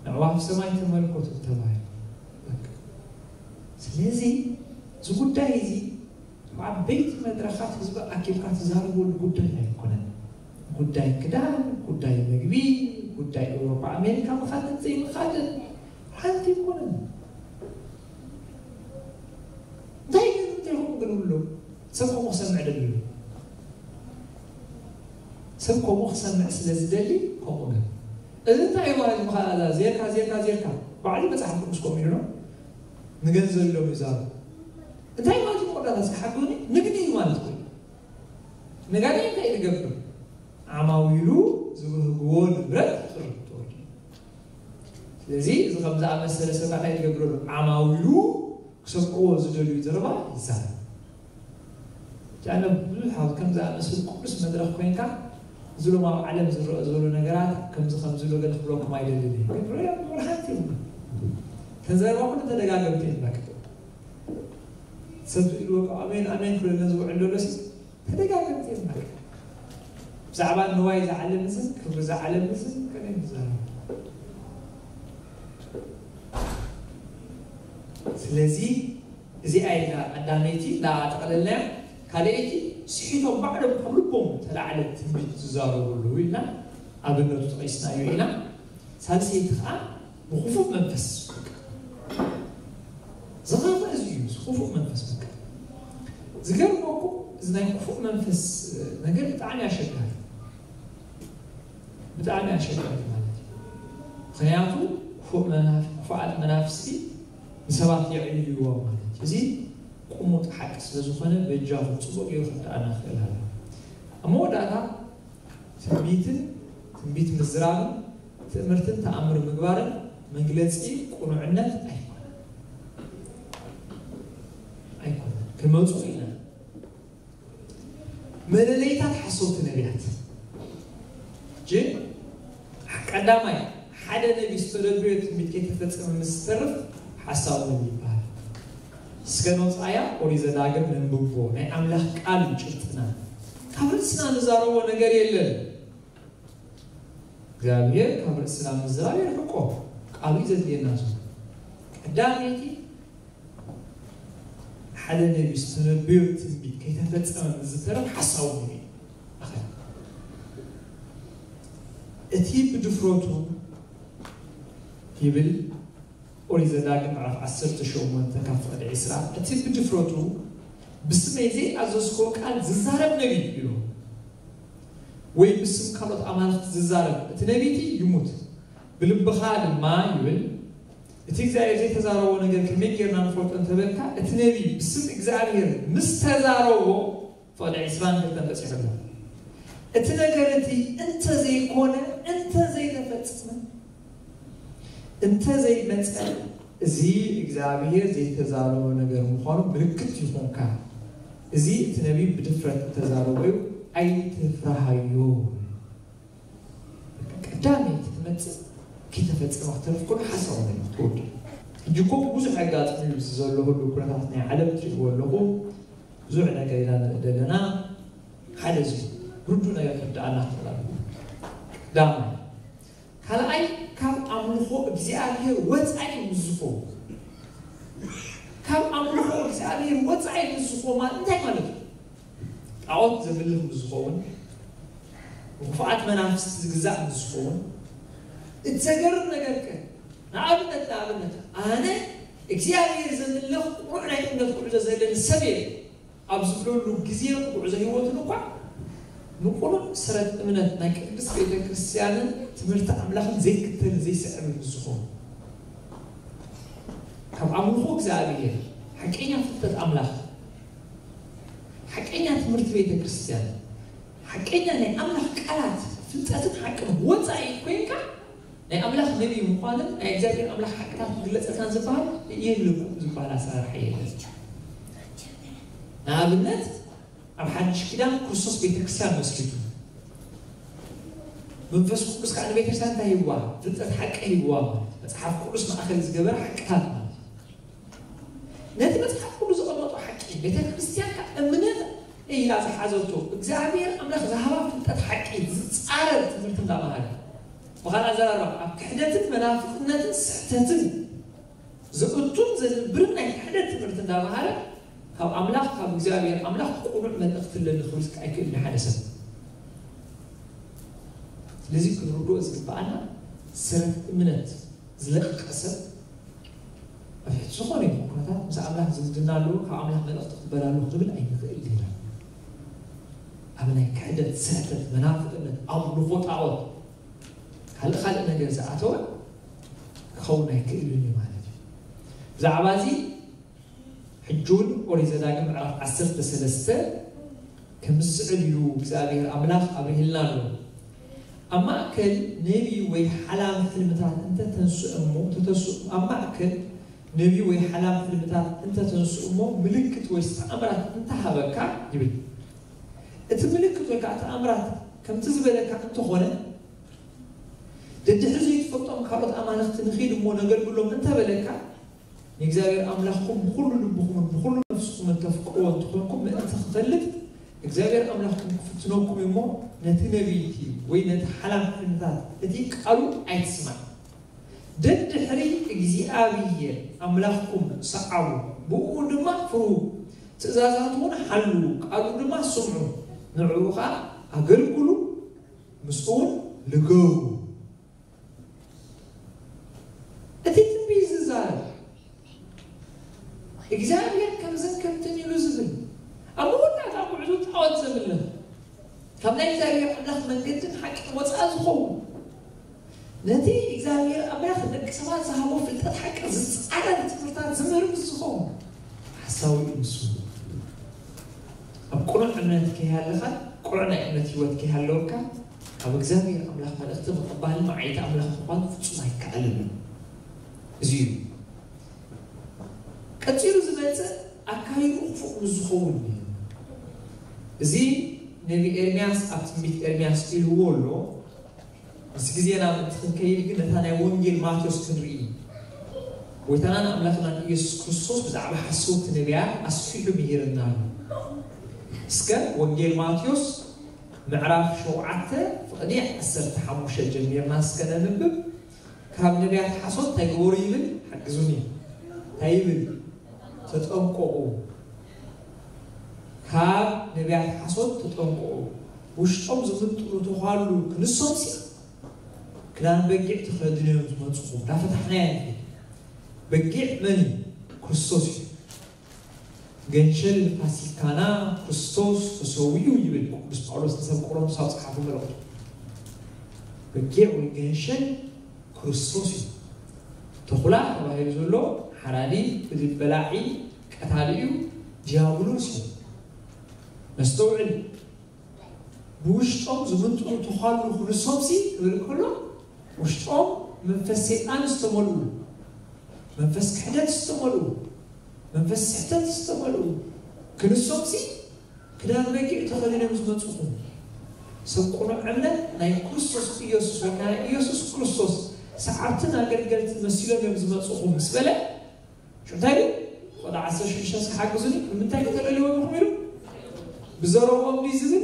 ንዕዋፍ ሰማይ ተመልከቱ ተባሂሉ። በቃ። ስለዚ እዚ ጉዳይ እዚ ኣብ ዓበይቲ መድረኻት ህዝቢ ኣኪብካ ትዛረበሉ ጉዳይ ኣይኮነን። ጉዳይ ክዳን፣ ጉዳይ ምግቢ፣ ጉዳይ ኤውሮጳ ኣሜሪካ ምኻድን ዘይምኻድን ሓንቲ ኣይኮነን። እንታይ ግን እንተይኹም ግን ብሎ ሰብ ከምኡ ክሰምዕ ደልዩ። ሰብ ከምኡ ክሰምዕ ስለ ዝደሊ ከምኡ ግን እዚ እንታይ እዩ ማለት ምኻላ ዜርካ ዜርካ ዜርካ ባዕሉ መጽሓፍ ቅዱስ ከምኡ ኢሉ ነው። ንገንዘብ ኢሎም ይዛሩ። እንታይ ማለት እዩ? ቆዳታ እስኪ ሓግዙኒ። ንግዲ እዩ ማለት ኮይኑ። ነጋዳይ እንታይ ዝገብር? ዓማዊሉ ዝብህግዎ ንብረት ክቕርብ ተወዲኡ። ስለዚ እዚ ከም ዝኣመሰለ ሰብ እንታይ ዝገብረሉ? ዓማዊሉ ክሰምዕዎ ዝደልዩ ዘረባ ይዛረብ። ጃነ ብዙሕ ኣብ ከም ዝኣመሰሉ ቅዱስ መድረኽ ኮይንካ፣ እዚ ሎም ኣብ ዓለም ዝረአ ዘሎ ነገራት ከምዚ ከምዚ ኢሎ ገለ ክብለኩም ኣይደልን እየ። ግን ርኦም ምርሓት እዩ። ተዘረባ ኩሉ ተደጋገምቲ እዮም። በቃ ሰብ ኢልዎ ኣሜን ኣሜን ክብለና ዝውዕል ዘሎ ሲ ተደጋገምቲ እዮም። በቃ ብዛዕባ ንዋይ ዝዓለም እዝን ክብሪ ዝዓለም እዝን ከመይ ንዛረብ? ስለዚ እዚኣ ኢልና ቀዳመይቲ እንዳጠቕለልናያ። ካልኣይቲ ስሒቶም ባዕሎም ካብ ልቦም ተላዕለ ትንቢት ዝዛረቡ ኣለዉ ኢልና ኣብነቱ ጠቒስናዮ ኢና። ሳልሰይቲ ከዓ ብክፉእ መንፈስ ዝኸፍእ እዚ እዩ። እዚ ክፉእ መንፈስ በቃ ዝገርመኩም እዚ ናይ ክፉእ መንፈስ ነገር ብጣዕሚ ኣሸጋሪ ብጣዕሚ ኣሸጋሪ ማለት እዩ። ምክንያቱ ክፉእ መናፍ-፣ ክፉኣት መናፍስቲ ንሰባት የዕልልዎም ማለት እዩ። እዚ ቁሙጥ ሓቂ ስለ ዝኾነ በጃኹም ጽቡቕ ገይሩ ክርድኣና ክኽእል ኣለዎ። ኣብ መወዳእታ ትንቢትን ትንቢት ምዝራብን ትእምርትን ተኣምር ምግባርን መግለጺ ቁኑዕነት ኣይኮነን። ኣይኮነን። ክመጹ ኢና። መለለይታት ሓሰውቲ ነቢያት። ጅን ቀዳማይ ሓደ ነቢ ዝተደብዮ ትንቢት ከይተፈጸመ ምስ ዝተርፍ ሓሳዊ ነቢ ይበሃል። እስከ ነውፃያ ኦሪት ዘዳግም ነንብቦ ናይ ኣምላኽ ቃል እዩ ጭብጥና። ካብ ርእስና ንዛረቦ ነገር የለን። እግዚኣብሔር ካብ ርእስና ምዝራብ የርሕቆ። ቃሉ እዩ ዘድልየና ዘሎ። ቀዳመይቲ ሓደ ነቢ ዝተነብዮ ትንቢት ከይተፈጸመ ምስ ዝተርፍ ሓሳዊ ነቢ እዩ። እቲ ብድፍረቱ ይብል ኦሪት ዘዳግም ምዕራፍ ዓሰርተ ሸሞንተ ካብ ፍቕዲ ዕስራ፣ እቲ ብድፍረቱ ብስመይ ዘይኣዘዝክዎ ቃል ዝዛረብ ነቢ ኢሉ፣ ወይ ብስም ካልኦት ኣማልኽቲ ዝዛረብ እቲ ነቢ እቲ ይሙት። ብልብኻ ድማ ይብል፣ እቲ እግዚኣብሔር ዘይተዛረቦ ነገር ከመይ ጌርና ንፈልጦ እንተበልካ፣ እቲ ነቢ ብስም እግዚኣብሔር ምስ ተዛረቦ፣ ፍቕዲ ዕስራን ክልተን በጺሑ ኣሎ። እቲ ነገር እቲ እንተ ዘይኮነ፣ እንተ ዘይተፈጸመ፣ እንተ ዘይመጸ፣ እዚ እግዚኣብሔር ዘይተዛረቦ ነገር ምዃኑ ምልክት ይኹንካ። እዚ እቲ ነቢይ ብድፍረት እተዛረቦ እዩ፣ ኣይትፍርሃዮ። ቀዳመይቲ ትመጽእ፣ ከይተፈጸመ ክተርፍ ከሎ ሓሳዊ ነገር ትወድእ። ሕጂ እኮ ብዙሕ ኣጋጣሚ እዩ፣ እዚ ዘሎ ሁሉ ኩነታት ናይ ዓለም ትርእይዎ ኣለኹም። ብዙሕ ነገር ኢና ንርኢ ዘለና። ሓደ እዚ ርዱእ ነገር ክርድኣና ክኽእል ኣለዎ። ቀዳማይ። ካልኣይ፣ ካብ ኣምልኾ እግዚኣብሔር ወጻኢ ምስ ዝኸውን። ካብ ኣምልኾ እግዚኣብሔር ወጻኢ ምስ ዝኸውን ማለት እንታይ ማለት እዩ? ጣዖት ዘምልኽ ምስ ዝኸውን፣ ንክፉኣት መናፍስቲ ዝግዛእ ምስ ዝኸውን፣ እቲ ዘገርም ነገር ከ፣ ንኣብነት፣ ንኣብነት፣ ኣነ እግዚኣብሔር ዘምልኽ ቅኑዕ ናይ እምነት ጉዕዞ ዘለኒ ሰብ እየ ኣብ ዝብለሉ ግዜን ጉዕዞ ህይወቱን እኳ፣ ንቅኑዕ ስረት እምነት ናይ ቅድስት ቤተ ክርስቲያንን ትምህርቲ ኣምላኽን ዘይክተልን ዘይስዕብን ምስ ዝኸውን፣ ካብ ኣምልኾ እግዚኣብሔር፣ ሓቀኛ ፍልጠት ኣምላኽ፣ ሓቀኛ ትምህርቲ ቤተ ክርስቲያን፣ ሓቀኛ ናይ ኣምላኽ ቃላት ፍልጠትን ሓቅን ወጻኢ ኮይንካ፣ ናይ ኣምላኽ ነቢይ ምዃንን ናይ እግዚኣብሔር ኣምላኽ ሓቅታት ክግለጸልካን ዝበሃል የልኩም ዝበሃል ኣሰራርሓ የለን። ንኣብነት ኣብ ሓድሽ ኪዳን ክርስቶስ ቤተክርስትያን መስሪቱ፣ መንፈስ ቅዱስ ከዓ ንቤተክርስትያን እንታይ ሂብዋ? ፍልጠት ሓቂ ሂብዋ ማለት መጽሓፍ ቅዱስ ማእከል ዝገበረ ሓቅታት ማለት። ነቲ መጽሓፍ ቅዱስ ዘቐመጦ ሓቂ ቤተክርስትያን ከዓ እምነት ኢላ ዝሓዘቶ እግዚኣብሔር ኣምላኽ ዝሃባ ፍልጠት ሓቂ ዝጻረር ትምህርቲ እንዳመሃረ፣ ብኻልእ ኣዘራርባ ኣብ ክሕደትን መናፍቅነትን ስሕተትን ዝእቱን ዘድብርን ናይ ክሕደት ትምህርቲ እንዳመሃረ ካብ ኣምላኽ ካብ እግዚኣብሔር ኣምላኽ ቅኑዕ መልእኽቲ ኣለኒ ክብል ኣይክእልን ሓደ ሰብ። ስለዚ ክንርድኦ ዝግብኣና ሰረት እምነት ዝለቀቀ ሰብ ኣብ ትሕቲ ዝኾነ ይኹን ኩነታት ምስ ኣምላኽ ዝምድና ኣለዎ፣ ካብ ኣምላኽ መልእኽቲ ክበላሉ ክብል ኣይንኽእል ዲና። ኣብ ናይ ክሕደት፣ ስሕተት፣ መናፍቅነት፣ ኣምልኾ ጣዖት፣ ካልእ ካልእ ነገር ዝኣተወ ክኸውን ኣይክእልን እዩ ማለት እዩ። ብዛዕባ እዚ ሕጂ እውን ኦሪት ዘዳግም ምዕራፍ ዓሰርተ ሰለስተ ከም ዝስዕብ ኢሉ እግዚኣብሔር ኣምላኽ ኣብሪህልና ኣሎ። ኣብ ማእከል ነቢ ወይ ሓላም ሕልምታት እንተተንስኡ እሞ፣ እንተተንስኡ፣ ኣብ ማእከል ነቢ ወይ ሓላም ሕልምታት እንተተንስኡ እሞ፣ ምልክት ወይ ተኣምራት እንተሃበካ ይብል። እቲ ምልክት ወይ ከዓ ተኣምራት ከምቲ ዝበለካ እንተኾነ፣ ደድሕሪ ዘይትፈልጦም ካልኦት ኣማልኽቲ ንኺድ እሞ ነገልግሎም እንተበለካ፣ ንእግዚኣብሔር ኣምላኽኩም ብኹሉ ልብኹምን ብኹሉ ነፍስኹምን ተፍቅርዎ እንተኾንኩም ምእንቲ ክፈልጥ፣ እግዚኣብሔር ኣምላኽኩም ክፍትነኩም እዩ እሞ፣ ነቲ ነቢይቲ ወይ ነቲ ሓላም ሕልምታት እቲ ቃሉ ኣይትስማዕ። ደድሕሪ እግዚኣብሔር ኣምላኽኩም ሰዓቡ፣ ብኡ ድማ ፍርሁ፣ ትእዛዛቱ እውን ሓልዉ፣ ቃሉ ድማ ስምዑ፣ ንዕኡ ኸዓ ኣገልግሉ፣ ምስኡ እውን ልገቡ። እቲ ትንቢት ዝዛረብ እግዚኣብሔር ከምዝን ከምትን ኢሉ ዝብል፣ ኣብ መወዳእታ ጉዕዞ ጣዖት ዘምልኽ፣ ካብ ናይ እግዚኣብሔር ኣምላኽ መንገድን ሓቅን ወፃእ ዝኸውን፣ ነቲ እግዚኣብሔር ኣምላኽ ንደቂ ሰባት ዝሃቦ ፍልጠት ሓቂ ዝፃረር ትምህርታት ዝምህር ምስ ዝኸውን ሓሳዊ እዩ ንሱ። ኣብ ቅኑዕ እምነት ከይሃለኻን ቅኑዕ ናይ እምነት ህይወት ከይሃለወካ፣ ካብ እግዚኣብሔር ኣምላኽ መልእኽቲ ምቕባልን መዓይቲ ኣምላኽ ምዃን ፍጹም ኣይከኣልን እዩ። እዚ እዩ። ቀጺሉ ዝመጽእ ኣካይዱ ክፉእ ምስ ዝኸውን እዩ። እዚ ነቢ ኤርምያስ ኣብ ትንቢት ኤርምያስ ኢልዎ ኣሎ። ምስ ግዜና ምእንቲ ክንከይድ ግን ነታ ናይ ወንጌል ማቴዎስ ክንርኢ። ጎይታናን ኣምላኽናን ኢየሱስ ክርስቶስ ብዛዕባ ሓሰውቲ ነቢያት ኣስፊሑ ምሂርና ኣሎ። እስከ ወንጌል ማቴዎስ ምዕራፍ ሸውዓተ ፍቕዲ ዓሰርተ ሓሙሽተ ጀሚርና እስከ ነንብብ። ካብ ነቢያት ሓሶት እንታይ ግበሩ ይብል? ሓግዙኒ። እንታይ ይብል? ተጠንቀቑ። ካብ ነቢያት ሓሶት ተጠንቀቑ። ውሽጦም ዝምንጥሉ ተዃሉ ክንሶምሲ ክዳን በጊዕ ተኸዲኖም ዝመጹኹም። እንዳፈታሕናዮ ንኸይድ። በጊዕ መን እዩ? ክርስቶስ እዩ። ገንሸል ፋሲካና ክርስቶስ ተሰዊኡ ይብል ቅዱስ ጳውሎስ ንሰብ ቆሮንቶስ ኣብ ጸሓፎ መልእኽቱ። በጊዕ ወይ ገንሸል ክርስቶስ እዩ። ተኹላ ተባሂሉ ዘሎ ሓራዲ፣ ብልቢ በላዒ፣ ቀታሊ እዩ፣ ዲያብሎስ እዩ። ነስተውዕል። ብውሽጦም ዝምንጥሉ ተዃሉ ክንሶምሲ ክብል ከሎ፣ ውሽጦም መንፈስ ሰይጣን ዝተመልኡ፣ መንፈስ ክሕደት ዝተመልኡ፣ መንፈስ ስሕተት ዝተመልኡ ክንሶምሲ ክዳን በጊዕ ተኸዲኖም ዝመጹኹም፣ ሰብ ቅኑዕ እምነት ናይ ክርስቶስ ኢየሱስ ወይ ከዓ ናይ ኢየሱስ ክርስቶስ ሰዓብትን ኣገልገልትን መሲሎም እዮም ዝመጹኹም ምስ በለ፣ ሽዑ እንታይ ኢሉ? ቆልዓ ዓሰርተ ሽዱሽተ እስኪ ሓግዙኒ። ንምንታይ ከተለልይዎም ኢኹም ኢሉ? ብዘረብኦም ድዩ ዝብል?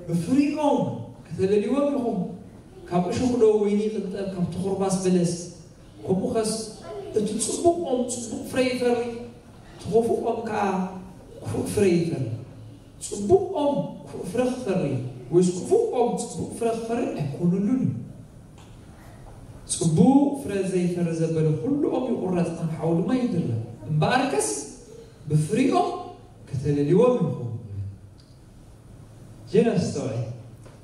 ብፍሪኦም ከተለልይዎም ኢኹም። ካብ እሾኽ ዶ ወይኒ ይቕንጠብ፣ ካብ ተኹርባስ በለስ? ከምኡ ኸስ እቲ ጽቡቕ ኦም ጽቡቕ ፍረ ይፈሪ፣ እቲ ኽፉእ ኦም ከኣ ክፉእ ፍረ ይፈሪ። ጽቡቕ ኦም ክፉእ ፍረ ክፈሪ፣ ወይስ ክፉእ ኦም ጽቡቕ ፍረ ክፈሪ ኣይኮነሉን እዩ። ጽቡቕ ፍረ ዘይፈሪ ዘበለ ኩሉ ኦም ይቑረጽ፣ ናብ ሓዊ ድማ ይድርብ። እምበኣርከስ ብፍሪኦም ከተለልይዎም ኢኹም። ጀነስ ተባሂሉ፣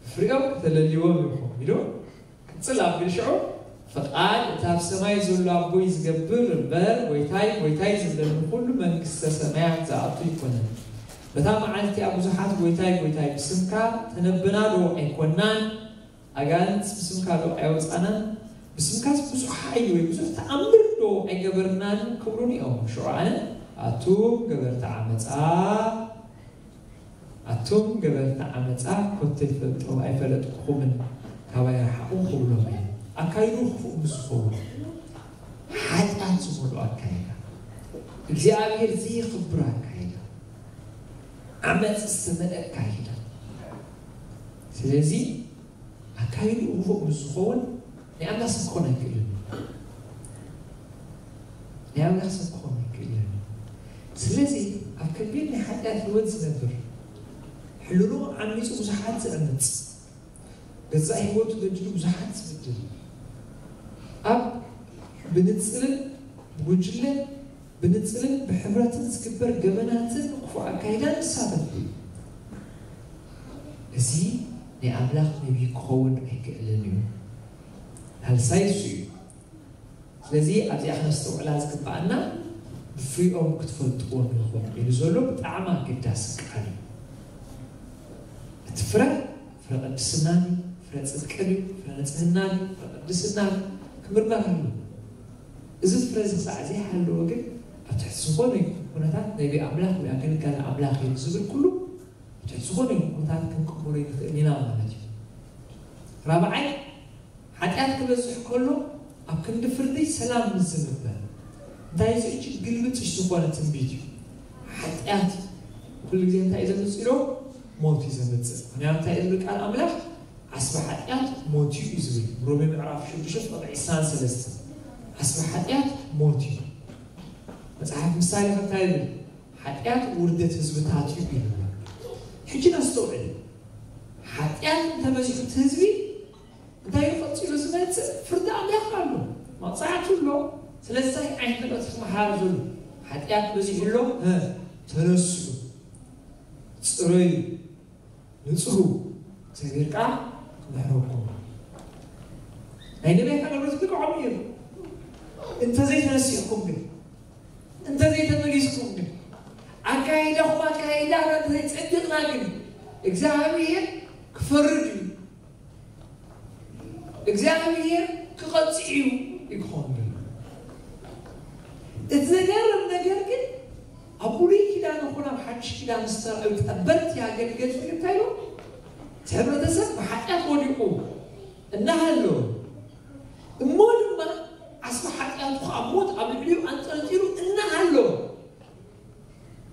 ብፍሪኦም ከተለልይዎም ኢኹም ኢሉ ክጽል ኣቢሉ ሽዑ፣ ፍቓድ እቲ ኣብ ሰማይ ዘሎ ኣቦይ ዝገብር እምበር፣ ጎይታይ፣ ጎይታይ ዝብለኒ ኩሉ መንግስተ ሰማያት ዝኣቱ ኣይኮነን። በታ መዓልቲ እቲኣ ብዙሓት ጎይታይ፣ ጎይታይ፣ ብስምካ ተነብና ዶ ኣይኮናን? ኣጋንንት ብስምካ ዶ ኣየውጻእናን? ስምካስ ብዙሕ ሓይሊ ወይ ብዙሕ ተኣምር ዶ ኣይገበርናን ክብሉኒ እዮም። ሽዑ ኣነ ኣቱም ገበርቲ ዓመፃ ኣቱም ገበርቲ ዓመፃ ኮተይ ፈልጦ ኣይፈለጥኩኹምን ካባይ ረሓቑ ክብሎም እየ። ኣካይዱ ክፉእ ምስ ዝኸውን ሓጢኣት ዝመልኦ ኣካይዳ፣ እግዚኣብሔር ዘየኽብር ኣካይዳ፣ ዓመፅ ዝተመልአ ኣካይዳ። ስለዚ ኣካይዱ ክፉእ ምስ ዝኸውን ናይ ኣምላኽ ሰብ ክኾን ኣይክእልን እዩ። ናይ ኣምላኽ ሰብ ክኾን ኣይክእልን እዩ። ስለዚ ኣብ ከቢድ ናይ ሓጢኣት ህይወት ዝነብር ሕልኑ ዓሚፁ ብዙሓት ዝዕምፅ ገዛእ ህይወቱ በዲሉ ብዙሓት ዝብድል ኣብ ብንፅልን ብጉጅለን ብንፅልን ብሕብረትን ዝግበር ገበናትን ክፉእ ኣካይዳን ዝሳተፍ እዩ። እዚ ናይ ኣምላኽ ነቢይ ክኸውን ኣይክእልን እዩ። ሳልሳይ እሱ እዩ። ስለዚ ኣብዚኣ ክነስተውዕላ ዝግብኣና ብፍሪኦም ክትፈልጥዎም ኢኹም ኢሉ ዘሎ ብጣዕሚ ኣገዳሲ ቃል እዩ። እቲ ፍረ ፍረ ቅድስና ድዩ? ፍረ ፅድቂ ድዩ? ፍረ ንፅህና ድዩ? ፍረ ቅድስና ድዩ? ክምርመር ኣሎ። እዚ ፍረ እዚ ክሳዕ ዘይሃለወ ግን ኣብ ትሕቲ ዝኾነ ይኹን ኩነታት ነቢ ኣምላኽ ወይ ኣገልጋሊ ኣምላኽ እዩ ዝብል ኩሉ ኣብ ትሕቲ ዝኾነ ይኹን ኩነታት ክንቅበሎ ንኽእል ኢና ማለት እዩ። ራብዓይ ሓጢኣት ክበዝሕ ከሎ ኣብ ክንዲ ፍርዲ ሰላም ምስ ዝንበ እንታይ እዚ እጅግ ግልብጥሽ ዝኾነ ትንቢት እዩ። ሓጢኣት ኩሉ ግዜ እንታይ እዩ ዘምፅእ ኢሎ ሞት እዩ ዘምፅእ። ምክንያቱ እንታይ እዩ ዝብል ቃል ኣምላኽ ዓስቢ ሓጢኣት ሞት እዩ እዩ ዝብል ሮሜ ምዕራፍ ሽዱሽተ ቁጥሪ ዕስራን ሰለስተን ዓስቢ ሓጢኣት ሞት እዩ። መፅሓፍ ምሳሌ ከ እንታይ ይብል? ሓጢኣት ውርደት ህዝብታት እዩ ይብል። ሕጂ ነስተውዕል። ሓጢኣት እንተበዚሑ እቲ ህዝቢ እንታይ እዩ ቀፂሉ ዝመፅእ? ፍርዲ ኣምላኽ ኣሎ፣ መቕፃዕቲ ኣሎ። ስለዚ እንታይ ዓይነት መልእኽቲ ክመሓላለፍ ዘሎ? ሓጢኣት በዚሑ ኣሎ፣ እ፣ ተነስኡ፣ ፅረዩ፣ ንፅሁ፣ እግዚኣብሔር ከዓ ክምሕረኩም። ናይ ነቢያት ኣገልግሎት ልክዖም እዩ። እንተዘይተነሲእኩም ግን እንተዘይተመሊስኩም ግን ኣካይዳኹም ኣካይዳ እንተዘይፀዲቕና ግን እግዚኣብሔር ክፈርድ እዩ። እግዚኣብሔር ክቐፅዕ እዩ ይክኸውን ዘሎ። እቲ ዘገርም ነገር ግን ኣብ ብሉይ ኪዳን ይኹን ኣብ ሓድሽ ኪዳን ዝተረኣዩ ጠበርቲ ኣገልገልቲ እንታይ ኢሎም? እቲ ሕብረተሰብ ብሓጢኣት ወዲቑ እናሃሎ እሞ ድማ ዓስቢ ሓጢኣቱ ከዓ ሞት ኣብ ልዕሊኡ ኣንጠልጢሉ እናሃሎ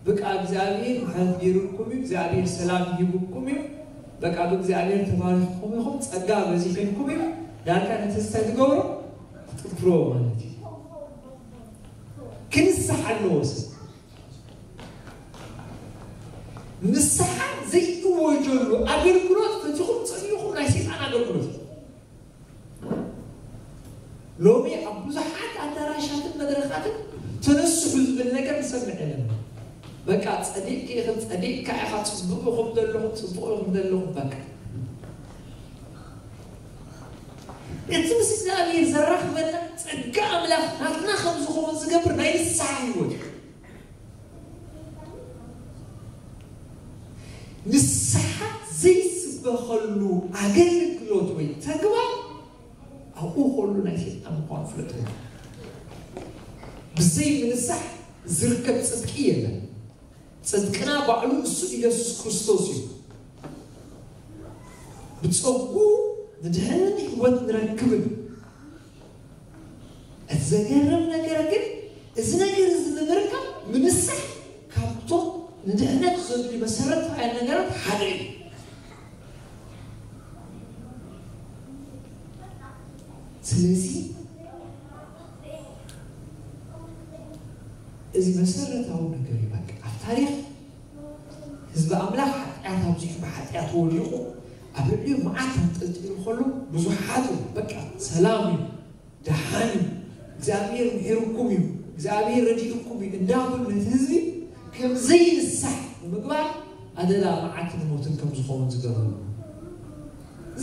በቃ እግዚኣብሔር ምሕረት ገይሩልኩም እዩ፣ እግዚኣብሔር ሰላም ይህብኩም እዩ፣ በቃ ብእግዚኣብሔር ተባሪኽኩም ኢኹም፣ ጸጋ በዚሕልኩም እዩ። ዳርጋ ነቲ እንታይ ትገብሮ? ትጥፍሮ ማለት እዩ። ክንስሓ ኣለዎ ሰብ። ንስሓ ዘይእወጀሉ ኣገልግሎት ፈቲኹም ጸኒኹም ናይ ሰይጣን ኣገልግሎት እዩ። ሎሚ ኣብ ብዙሓት ኣዳራሻትን መድረኻትን ተነስሑ ዝብል ነገር ንሰምዕ ኣለና። በቃ ጸዲቕኪ ኢኽን ጸዲቕካ ኢኻ፣ ጽቡቕ ኢኹም ዘለኹም ጽቡቕ ኢኹም ዘለኹም በቃ። እቲ ምስ እግዚኣብሔር ዘራኽበና ጸጋ ኣምላኽ ናትና ከም ዝኸውን ዝገብር ናይ ንስሓ ህይወት እዩ። ንስሓ ዘይስበኸሉ ኣገልግሎት ወይ ተግባር ኣብኡ ከሉ ናይ ሰይጣን ምዃኑ ፍለጥዎ። ብዘይ ምንሳሕ ዝርከብ ጽድቂ የለን። ጽድቅና ባዕሉ እሱ ኢየሱስ ክርስቶስ እዩ። ብጸጉ ንድሕንን ህይወት ንረክብን። እቲ ዘገርም ነገር ግን እዚ ነገር እዚ ንምርካብ ምንሳሕ ካብቶም ንድሕነት ዘድልዩ መሰረታውያን ነገራት ሓደ እዩ። ስለዚ እዚ መሰረታዊ ነገር እዩ። በቃ ኣብ ታሪኽ ህዝቢ ኣምላኽ ሓጢኣት ኣብዚሑ ብሓጢኣት ወዲቑ ኣብ ልዕሊኡ መዓት ኣንጠልጢሉ ከሎ ብዙሓት እዮም በቃ ሰላም እዩ፣ ደሓን እዩ፣ እግዚኣብሔር ምሒርኩም እዩ፣ እግዚኣብሔር ረዲእኩም እዩ እንዳበሉ ነቲ ህዝቢ ከም ዘይንሳሕ ብምግባር ኣደዳ መዓትን ሞትን ከም ዝኸውን ዝገበሩ።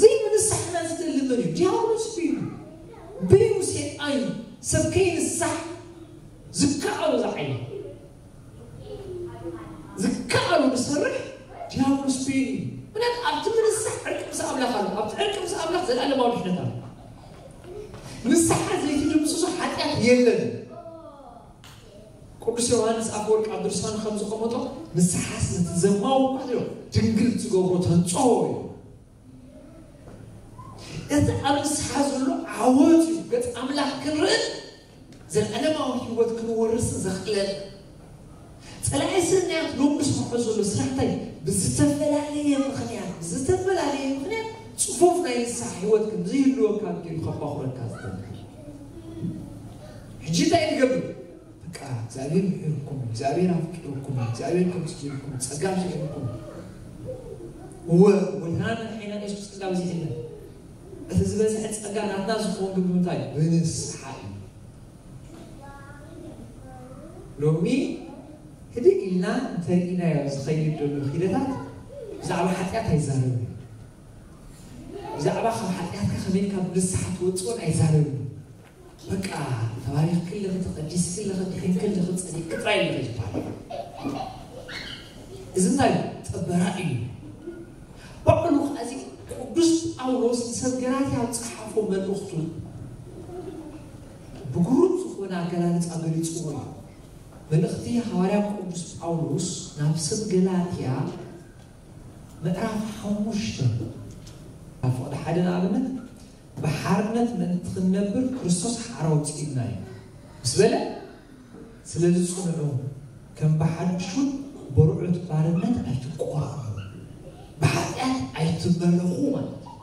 ዘይምንሳሕና ዝደሊ መን እዩ? ዲያብሎስ እዩ። በይኑ ሰይጣን እዩ። ሰብ ከይንሳሕ ዝከኣሎ ዝዓይነ ዝከኣሎ ዝሰርሕ ዲያብሎስ በይኑ እዩ። ምክንያቱ ኣብቲ ምንሳሕ ዕርቂ ምስ ኣምላኽ ኣሎ። ኣብቲ ዕርቂ ምስ ኣምላኽ ዘለኣለማዊ ድሕነት ኣሎ። ንስሓ ዘይትድምስሶ ሓጢኣት የለን። ቅዱስ ዮሃንስ ኣፈወርቅ ኣብ ድርሳኑ ከም ዝቐመጦ፣ ንስሓስ ነቲ ዘማዊ እኳ ድንግል ትገብሮ ተንጽሆ እዩ። እቲ ኣብ ንስሓ ዘሎ ዓወት እዩ። ገጽ ኣምላኽ ክንርኢ፣ ዘለዓለማዊ ህይወት ክንወርስን ዘኽእለና። ጸላኢ ስርናያት ሎምስ ክውሕዝ ዘሎ ስራሕ እንታይ? ብዝተፈላለየ ምኽንያት፣ ብዝተፈላለየ ምኽንያት ጽፉፍ ናይ ንስሓ ህይወት ከም ዘይህልወካ ገይሩ ከባኹረካ ዝደሊ። ሕጂ እንታይ ንገብር? በቃ እግዚኣብሔር ምሒርኩም፣ እግዚኣብሔር ኣፍቂርኩም፣ እግዚኣብሔር ከምዚ ገይርኩም፣ ጸጋ ስዒርኩም። እወ፣ ጎይታና መድሓኒና ኢየሱስ ጸጋ በዚሕልና። እቲ ዝበዝሐ ጸጋ ናትና ዝኸውን ግን ብምንታይ? ብንስሓ እዩ። ሎሚ ህድእ ኢልና እንተርኢናዮ ዝኸይድ ዘሎ ኺደታት ብዛዕባ ሓጢኣት ኣይዛረብን። ብዛዕባ ካብ ሓጢኣትካ ከመይ ኢልካ ብንስሓ ትወፅኦን ኣይዛረብን። በቃ ተባሪኽኪ ኣለኺ፣ ተቐዲስኪ ኣለኺ፣ ድሒንኪ ኣለኺ፣ ጸዲቕኪ ጥራይ ኣለኺ ዝበሃል። እዚ እንታይ እዩ? ጥበራ እዩ። ባዕሉ ከዚ ቅዱስ ጳውሎስ ንሰብ ገላትያ ኣብ ጸሓፎ መልእኽቱ ብግሩም ዝኾነ ኣገላልጻ ገሊጽዎ እዩ። መልእኽቲ ሃዋርያ ቅዱስ ጳውሎስ ናብ ሰብ ገላትያ ምዕራፍ ሓሙሽተ ኣብ ፍቕዲ ሓደ ንኣብነት ብሓርነት ምእንቲ ክንነብር ክርስቶስ ሓራ ኣውጺኡና እዩ ምስ በለ፣ ስለዚ ጽንዑ፣ ከም ብሓድሽ እውን በርዑት ባርነት ኣይትቆራረሩ፣ ብሓጢኣት ኣይትመለኹ ማለት እዩ።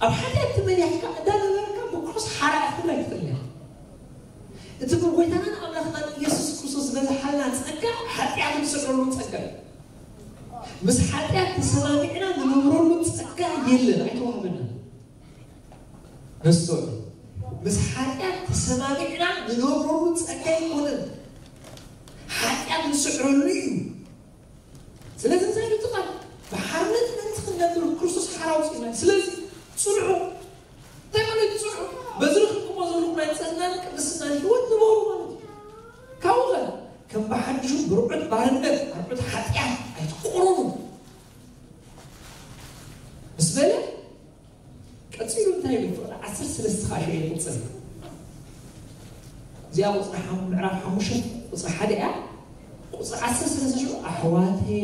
ኣብ ሓጢኣት ተመሊኽካ እንዳነበርካ ብክርስቶስ ሓራ ክትብል ኣይትኽእልን ኢኻ። እቲ ብጎይታናን ኣምላኽናን ኢየሱስ ክርስቶስ ዝበዝሓልና ጸጋ ሓጢኣት ንስዕረሉ ጸጋ እዩ። ምስ ሓጢኣት ተሰማሚዕና ንነብረሉ ጸጋ የለን፣ ኣይተዋህበናን። ነስተውዕል። ምስ ሓጢኣት ተሰማሚዕና ንነብረሉ ጸጋ ኣይኮነን። ሓጢኣት ንስዕረሉ እዩ። ስለዚ እንታይ ኢሉ እቲ ቃል? ብሓርነት ምእንቲ ክንነብር ክርስቶስ ሓራ ኣውጺኡና። ስለዚ ጽንዑ። እንታይ ማለት እዩ ጽንዑ? በዚ ረኺብኩሞ ዘለኹም ናይ ንጽህናን ቅድስናን ህይወት ንበሩ ማለት እዩ። ካብኡ ኸ ከም ብሓድሹ ብርዑት ባርነት፣ ኣርዑት ሓጢኣት ኣይትቆረሩ ምስ በለ፣ ቀጺሉ እንታይ ይብል? ፍቕዲ ዓሰርተ ሰለስተ ከዓ ሽዑ ይቕጽል። እዚኣ ቁጽሪ ሓሙ-፣ ምዕራፍ ሓሙሽተ ቁጽሪ ሓደ እያ። ቁጽሪ ዓሰርተ ሰለስተ ሽዑ፣ ኣሕዋተየ፣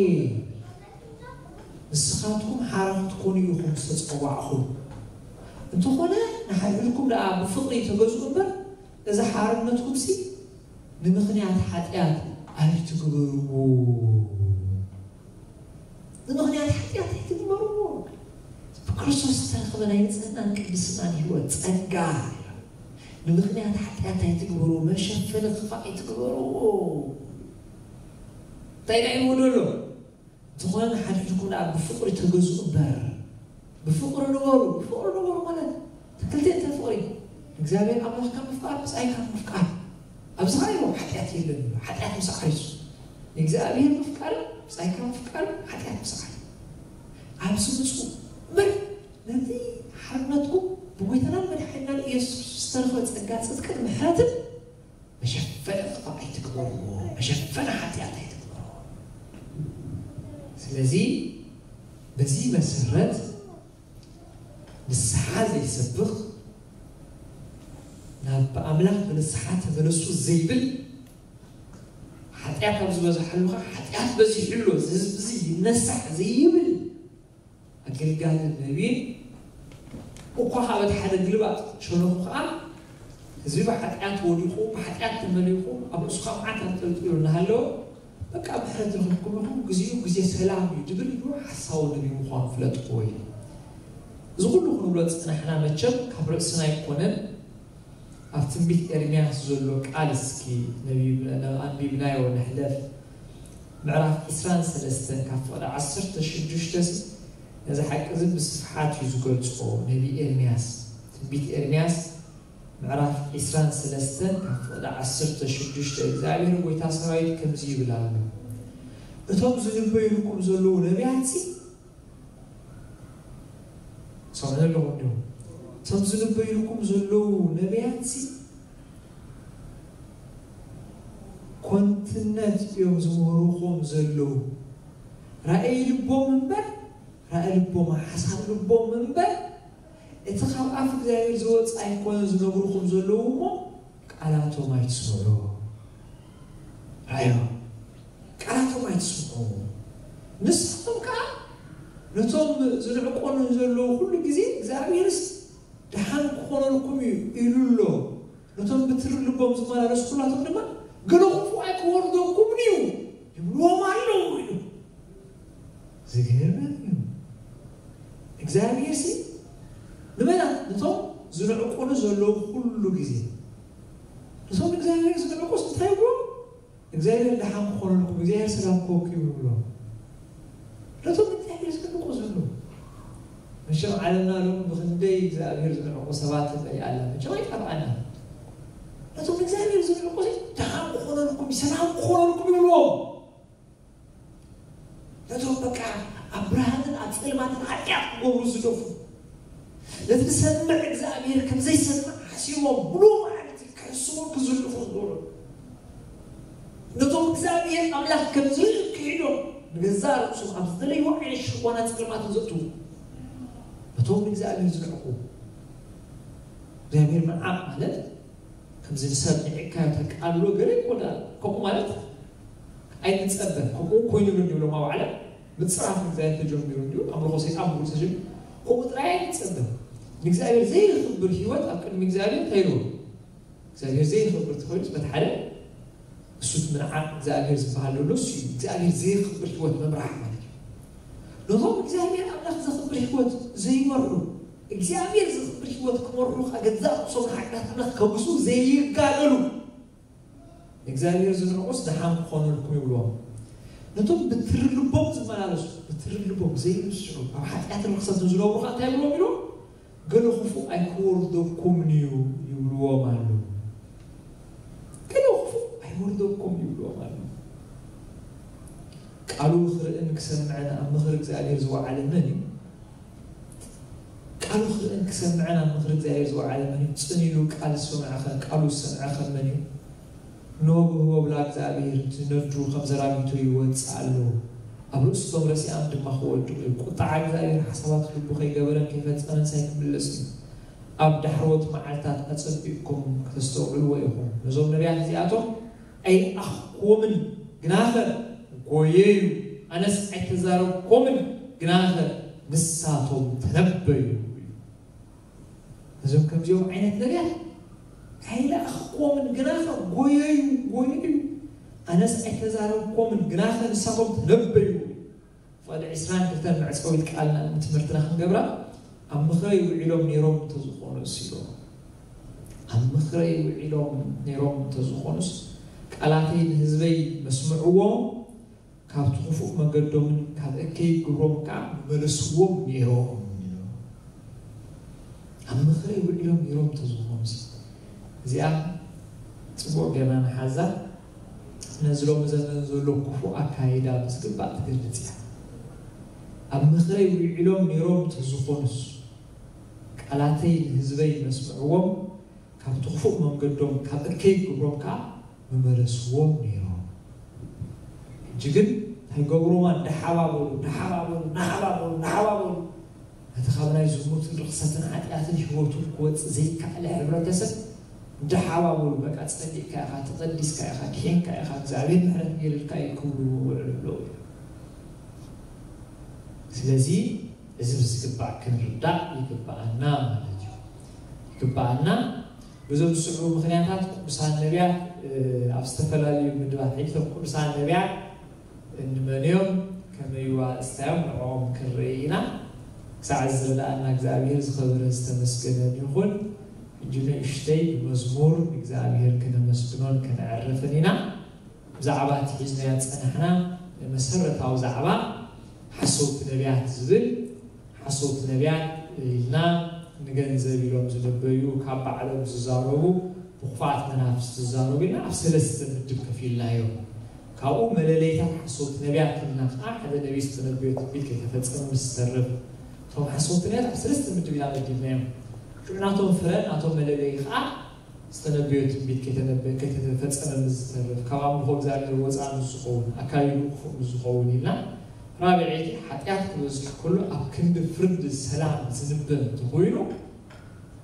ንስኻትኩም ሓራ ክትኮኑ ኢኹም ዝተጸዋዕኹም። እንተኾነ ንሓድሕድኩም ደኣ ብፍቕሪ ተገዝኡ እምበር፣ እዚ ሓርነትኩምሲ ንምኽንያት ሓጢኣት ኣይትግበርዎ። ንምኽንያት ሓጢኣት ኣይትግበርዎ። ብክርስቶስ ዝተረኽበ ናይ ንጽህናን ቅድስናን ህይወት ጸጋ። ንምኽንያት ሓጢኣት ኣይትግበርዎ፣ መሸፈኒ ክፋእ ኣይትግበርዎ። እንታይ ደኣ ኢልዎ ዘሎ? እንተኾነ ንሓድሕድኩም ደኣ ብፍቕሪ ተገዝኡ እምበር። ብፍቕሪ ንበሩ። ብፍቕሪ ንበሩ ማለት ክልተ ፍቕሪ። እግዚኣብሔር ኣምላኽካ ምፍቃር፣ ብጻይካ ምፍቃር። ኣብዚ ኸኣ ይብሎ ሓጢኣት የለን ይብሎ። ሓጢኣት ምስዓር እዩ። ንእግዚኣብሔር ምፍቃር፣ ብጻይካ ምፍቃር፣ ሓጢኣት ምስዓር። ኣብዚ ምጹ እምበር ነቲ ሓርነትኩም ብጎይታናን መድሓኒናን ኢየሱስ ክርስቶስ ዝተረኽበ ጸጋ ጽድቅን ምሕረትን መሸፈኒ ጥፋእ ኣይትግበርዎ፣ መሸፈኒ ሓጢኣት ኣይትግበርዎ። ስለዚ በዚ መሰረት ንስሓ ዘይሰብኽ፣ ናብ ኣምላኽ ብንስሓ ተመለሱ ዘይብል፣ ሓጢኣት ኣብ ዝበዝሓሉ ኸዓ ሓጢኣት በዚሑ ኣሎ፣ እዚ ህዝቢ እዚ ይነሳሕ ዘይብል ኣገልጋሊ ነቢይን እኳ ካብ እቲ ሓደ ግልባጥ ሸነኹ ኸዓ ህዝቢ ብሓጢኣት ወዲቑ፣ ብሓጢኣት ተመሊኹ፣ ኣብ ርእሱ ኸዓ መዓት ኣንጠልጢሉ እናሃለወ፣ በቃ ምሕረት ረኺብኩም ኢኹም፣ ግዜኡ ግዜ ሰላም እዩ ድብል ኢሉ ሓሳዊ ነቢይ ምዃኑ ፍለጥዎ እዩ። እዚ ኩሉ ክንብሎ ዝጸናሕና መቸም ካብ ርእስና ኣይኮነን። ኣብ ትንቢት ኤርምያስ ዘሎ ቃል እስኪ ነቢብ-፣ ኣንቢብናዮ ንሕለፍ። ምዕራፍ ዕስራን ሰለስተን ካብ ፍቕዲ ዓሰርተ ሽዱሽተ ሲ ነዚ ሓቂ እዚ ብስፍሓት እዩ ዝገልጾ። ነቢ ኤርምያስ፣ ትንቢት ኤርምያስ ምዕራፍ ዕስራን ሰለስተን ካብ ፍቕዲ ዓሰርተ ሽዱሽተ፣ እግዚኣብሔር ጎይታ ሰራዊት ከምዚ ይብል ኣሎ፣ እቶም ዝንበዩልኩም ዘለዉ ነቢያትሲ፣ ሰምዑ ኣለኹም ድዮም? እቶም ዝንበዩልኩም ዘለዉ ነቢያትሲ ኮንትነት እዮም ዝምህሩኹም ዘለዉ። ራእይ ልቦም እምበር፣ ራእይ ልቦም፣ ሓሳብ ልቦም እምበር፣ እቲ ካብ ኣፍ እግዚኣብሔር ዝወፅ ኣይኮነ ዝነግሩኹም ዘለዉ እሞ ቃላቶም ኣይትስምዑ። ራዮ ቃላቶም ኣይትስምዑ። ንስኹም ከዓ ነቶም ዝንዕቆኑ ዘለዉ ኩሉ ግዜ እግዚኣብሔርስ ደሓን ክኾነልኩም እዩ ኢሉ ኣሎ። ነቶም ብትሪ ልቦም ዝመላለሱ ኩላቶም ድማ ገለ ክፉእ ኣይክወርደኩምን እዩ ይብልዎም ኣለዉ ኢሉ። ዝገርም እዩ። እግዚኣብሔር ሲ ንመና ነቶም ዝንዕቁሉ ዘለዉ ኩሉ ግዜ ነቶም እግዚኣብሔር ዝንዕቁስ እንታይ ይብሎ? እግዚኣብሔር ደሓን ክኾነልኩም እግዚኣብሔር ሰላም ክወኩም ይብሎ። ነቶም እግዚኣብሔር ዝንዕቁ ዘለዉ መቸም ዓለምና ሎም ብክንደይ እግዚኣብሔር ዝንዕቁ ሰባት ንርኢ ኣላ። መቸም ኣይጠፍኣና። ነቶም እግዚኣብሔር ዝንዕቁ ደሓን ክኾነልኩም ሰላም ክኾነልኩም ይብልዎም። ነቶም በቃ ኣብ ብርሃንን ኣብ ጸልማትን ሓጢኣት ክገብሩ ዝደፉ ነቲ ዝሰምዕ እግዚኣብሔር ከም ዘይሰምዕ ሓሲቦም ብሉ ማለት ከስቡ ክዝልፉ ዝገብሩ ነቶም እግዚኣብሔር ኣምላኽ ከም ዝርኢ ክሒዶም ንገዛእ ርእሶም ኣብ ዝደለይዎ ዓይነት ሽኾና ጸልማትን ዘእትዉ ነቶም እግዚኣብሔር ዝንዕቁ እግዚኣብሔር ምንዓቕ ማለት ከምዚ ንሰብ ንዕካዮ ተቃልሎ ገለ ይኮና ከምኡ ማለት ኣይንጸበ ከምኡ ኮይኑ ንብሎም ኣብ ዓለም ምጽራፍ እግዚኣብሔር ተጀሚሩ እንዲሁ ኣምልኾ ሰይጣን ብሉ ተጀሚሩ ከምኡ ጥራይ ኣይንጸበ ንእግዚኣብሔር ዘይኽብር ህይወት ኣብ ቅድሚ እግዚኣብሔር እንታይ ይልዎ እግዚኣብሔር ዘይኽብር ተኾይኑስ በቲ ሓደ እሱት ምንዓቕ እግዚኣብሔር ዝበሃል ዘሎ እሱ እዩ እግዚኣብሔር ዘይኽብር ህይወት ምምራሕ ማለት እዩ ነቶም እግዚኣብሔር ኣምላኽ ዘኽብር ህይወት ዘይመርሑ እግዚኣብሔር ዘኽብር ህይወት ክመርሑ ከገዛእ ርእሶም ንሓጢኣት ኣምላኽ ከብሱ ዘይጋደሉ እግዚኣብሔር ዝንዕቁስ ደሓን ክኾነልኩም ይብልዎም ነቶም ብትሪ ልቦም ዝመላለሱ ብትሪ ልቦም ዘይምስዑ ኣብ ሓጢኣትን ርክሰትን ዝነብሩ ከዓ እንታይ ይብልዎም ኢሉ ገለ ክፉእ ኣይክወርደኩምን እዩ ይብልዎም ኣለዉ ገለ ክፉእ ኣይወርደኩም ይብልዎም ኣለዉ ቃሉ ክርእን ክሰምዕን ኣብ ምኽሪ እግዚኣብሔር ዝወዓለ መን እዩ ቃሉ ክርእን ክሰምዕን ኣብ ምኽሪ እግዚኣብሔር ዝወዓለ መን እዩ ጽን ኢሉ ቃል ዝሰምዐኸ ቃሉ ዝሰምዐኸ መን እዩ ኖ ብህቦብላ እግዚኣብሔር እቲ ነዱ ከም ዘራጊቶ ይወፅእ ኣሎ ኣብ ርእስቶም ረሲኣም ድማ ክወድቁ እዩ ቁጣዓ እግዚኣብሔር ሓሳባት ልቡ ከይገበረን ከይፈፀመን ሳይ ክምለስ እዩ ኣብ ዳሕሮት መዓልታት ኣፀቢቕኩም ከተስተውዕልዎ ኢኹም ነዞም ነቢያት እዚኣቶም ኣይረኣኽኩዎምን ግናኸ ጎየዩ ኣነስ ኣይተዛረብኮምን ግናኸ ንሳቶም ተነበዩ እዞም ከምዚኦም ዓይነት ነቢያት ኣይለኣኽኩዎምን ግናኸ ጎየዩ ጎየዩ ኣነስ ኣይተዛረብኮምን ግናኸ ንሳቶም ተነበዩ ፍቕዲ ዕስራን ክልተን መዕፀዊት ቃልና ትምህርትና ክንገብራ ኣብ ምኽረይ ውዒሎም ነይሮም እንተዝኾኑስ ኢሎም ኣብ ምኽረይ ውዒሎም ነይሮም እንተዝኾኑስ ቃላተይ ንህዝበይ መስምዕዎም ካብቲ ክፉእ መገዶምን ካብ እከይ ግብሮም ከዓ መለስዎም ነይሮም ኣብ ምኽረይ ውዒሎም ነይሮም እንተዝኾኑስ እዚኣ ፅቡቅ ገና ንሓዛ ነዚ ሎሚ ዘመን ዘሎ ክፉእ ኣካይዳ ብዝግባእ ትገልፅ እያ ኣብ ምኽረይ ውዒሎም ነይሮም እንተዝኾኑስ ቃላተይ ንህዝበይ መስምዕዎም ካብቲ ክፉእ መንገዶም ካብ እከይ ግብሮም ከዓ ምመለስዎም ነይሮም ሕጂ ግን ኣይገብሮማ እንዳሓባበሉ እንዳሓባበሉ እንዳሓባበሉ እንዳሓባበሉ እቲ ካብ ናይ ዝሙትን ርክሰትን ሓጢኣትን ህይወቱ ክወፅእ ዘይከኣለ ሕብረተሰብ እንዳሓባበሉ በቃ ፀሊእካ ኢኻ ተቐዲስካ ኢኻ ድሒንካ ኢኻ እግዚኣብሔር ምሕረት ገይርልካ እዩ ክብሉ ውዕሉ ኣለዉ ስለዚ እዚ ብዝግባእ ክንርዳእ ይግበኣና ማለት እዩ ይግበኣና ብዞም ዝስዕቡ ምኽንያታት ቅዱሳን ነቢያት ኣብ ዝተፈላለዩ ምድባት ሕጂ ቶም ቅዱሳን ነቢያት እንመንዮም ከመይዋ እስታዮም ንዕኦም ክንርኢ ኢና ክሳዕ ዝረዳእና እግዚኣብሔር ዝኸበረ ዝተመስገነን ይኹን ሕጂ ንእሽተይ ብመዝሙር እግዚኣብሔር ክነመስግኖን ከነዕርፍን ኢና ብዛዕባ እቲ ሒዝናዮ ዝፀናሕና መሰረታዊ ዛዕባ ሓሰውቲ ነቢያት ዝብል ሓሶት ነቢያት ኢልና ንገንዘብ ኢሎም ዝንበዩ ካብ ባዕሎም ዝዛረቡ ብክፉኣት መናፍስቲ ዝዛረቡ ኢልና ኣብ ሰለስተ ምድብ ከፊልናዮም። ካብኡ መለለይታት ሓሶት ነቢያት ኢልና ከዓ ሓደ ነቢይ ዝተነበዮ ትንቢት ከይተፈፀመ ምስ ዝተርፍ እቶም ሓሶት ነቢያት ኣብ ሰለስተ ምድብ ኢና መዲብናዮም። ሽዑ ናቶም ፍረ ናቶም መለለዪ ከዓ ዝተነበዮ ትንቢት ከይተፈፀመ ምስ ዝተርፍ ካብ ኣምልኾ እግዚኣብሔር ወፃኢ ምስ ዝኸውን ኣካይዱ ክፉእ ምስ ዝኸውን ኢልና ራብዐይቲ ሓጢኣት ክበዝሕ ከሎ ኣብ ክንዲ ፍርዲ ሰላም ዝንበ እንተኾይኑ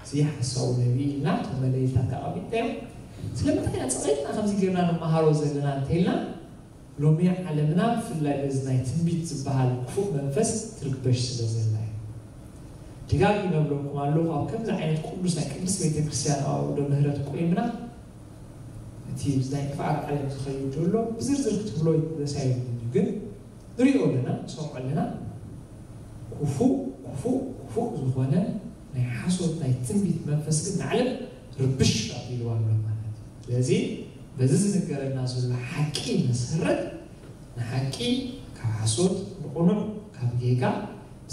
እዚ ሓሳዊ ነቢይ ኢልና እቶም መለይታት ኣቐሚጥናዮም። ስለምንታይ ኢና ጸቒጥና ከምዚ ጌርና ንመሃሮ ዘለና እንተኢልና፣ ሎሚ ዓለምና ብፍላይ በዚ ናይ ትንቢት ዝበሃል ክፉእ መንፈስ ትርግበሽ ስለ ዘላ እዩ። ደጋጊመ እብለኩም ኣለኹ፣ ኣብ ከምዚ ዓይነት ቅዱስ ናይ ቅድስት ቤተ ክርስቲያን ኣውደ ምህረት ቆይምና እቲ ናይ ጥፍኣት ዓለም ዝኸይድ ዘሎ ብዝርዝር ክትብሎ ደስ ኣይብልን እዩ፣ ግን ንሪኦ ኣለና፣ ንሰምዖ ኣለና። ክፉእ ክፉእ ክፉእ ዝኾነ ናይ ሓሶት ናይ ትንቢት መንፈስ ግን ንዓለም ርብሽ ኣቢልዋ ኣሎ ማለት እዩ። ስለዚ በዚ ዝንገረና ዘሎ ሓቂ መሰረት ንሓቂ ካብ ሓሶት፣ ንቕኑዕ ካብ ጌጋ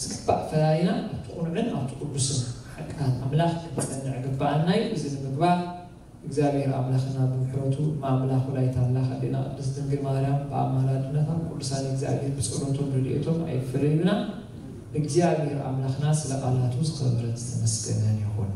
ዝግባእ ፈላሊና ኣብቲ ቅኑዕን ኣብቲ ቅዱስን ሓቅታት ኣምላኽ ክንጸንዕ ግባኣና እዩ። እዚ ንምግባር እግዚኣብሔር ኣምላኽና ብምሕረቱ እማ ኣምላኽ ወላዲተ ኣምላኽ ኣዴና ቅድስት ድንግል ማርያም ብኣማላድነታ ቅዱሳን እግዚኣብሔር ብጸሎቶም ረድኤቶም ኣይፈለዩና። እግዚኣብሔር ኣምላኽና ስለ ቃላቱ ዝኸበረን ዝተመስገነን ይኹን።